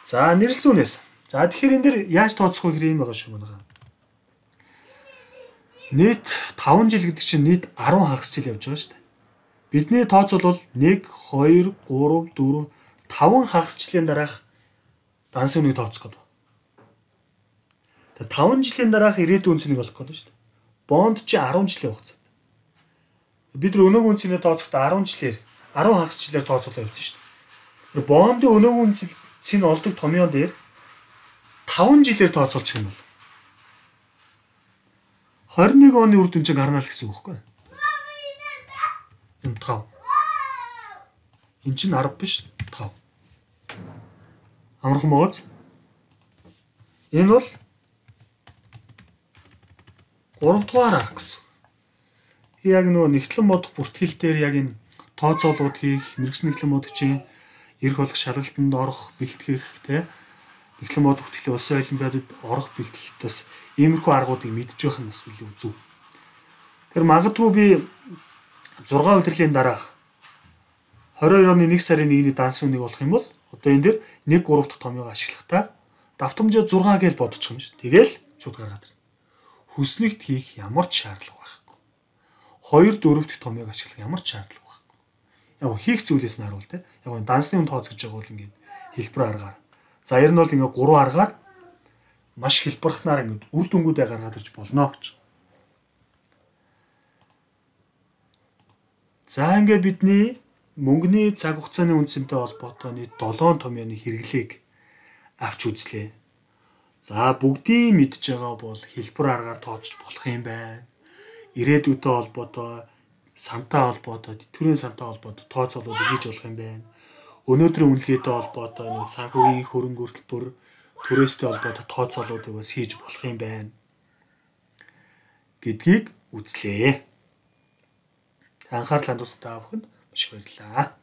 За нэрлсэн үнээс. За тэгэхээр энэ дэр яаж тооцох вэ гэхээр юм байгаа шүү манай. Нийт таван жил гэдэг чинь нийт арван хагас жил явж байгаа шүү дээ. Бидний тооцол бол нэг, хоёр, гурав, дөрөв, таван хагасчлалын дараах дансын үнийг тооцох гэдэг. Тэгээ таван жилийн дараах ирээдүйн үнцнийг олох гэдэг шүү дээ. Бонд чи арван жилийн хугацаанд. Бид нар өнөөгийн үнцнийг тооцохдоо арван жилээр арван хагасчлалаар тооцоолоо явуулсан шүү дээ. Тэр бондын өнөөгийн үнцийг олдог томьёон дээр таван жилээр тооцоолчих юм бол двадцать och ett оны үр дүн чинь гарна л гэсэн үг байхгүй юу? Энэ тав. Энэ чинь арав биш тав. Амархан байгаач. Энэ бол гурав дугаар арга гэсэн. Яг нөгөө нэгтлэн модох бүртгэл дээр яг энэ тооцоолууд хийх, мэрэгсэн нэгтлэн модогчийн эрх олох шалгалтанд орох, бэлтгэх тэ нэгтлэн модох бүртгэлийн улсын олимпиадад орох бэлтгэх бас иймэрхүү аргуудыг мэдж байх нь бас илүү зөв. Тэр магадгүй би зургаан удирлын дараах двадцать two оны нэг сарын нэгний дансын үнийг олох юм бол одоо энэ дэр нэг гурав дахь томьёог ашиглахдаа давтамжаа зургаа гэж бодчих юм шүү. Тэгэл шууд гаргаад ирнэ. Хүснэгт хийх ямар ч шаардлага байхгүй. хоёр дөрөв дахь томьёог ашиглах ямар ч шаардлага байхгүй. Яг хийх зүйлээс нь харуул те. Яг энэ дансны үнд тооцож байгаа бол ингээд хэлбэр аргаар. За ер нь бол ингээд гурван аргаар маш хэлбэрхнаар ингээд үр дүнгуудаа гаргаад ирж болно гэж. За ингээд бидний мөнгөний цаг хугацааны үнцэнтэй холбоотой нийт долоон томьёоны хэрэглээг авч үзлээ. За бүгдийг мэдж байгаа бол хэлбэр аргаар тооцож болох юм байна. Ирээдүйтэй холбоотой, сантай холбоотой, тэтгэврийн сантай холбоотой тооцоолуудыг хийж болох юм байна. Өнөөдрийн үнэлгээтэй холбоотой санхүүгийн хөрөнгө хөтөлбөр, түрээстэй холбоотой тооцоолуудыг бас хийж болох юм байна гэдгийг үзлээ. Анхаарал хандуулсан та бүхэнд маш их баярлалаа.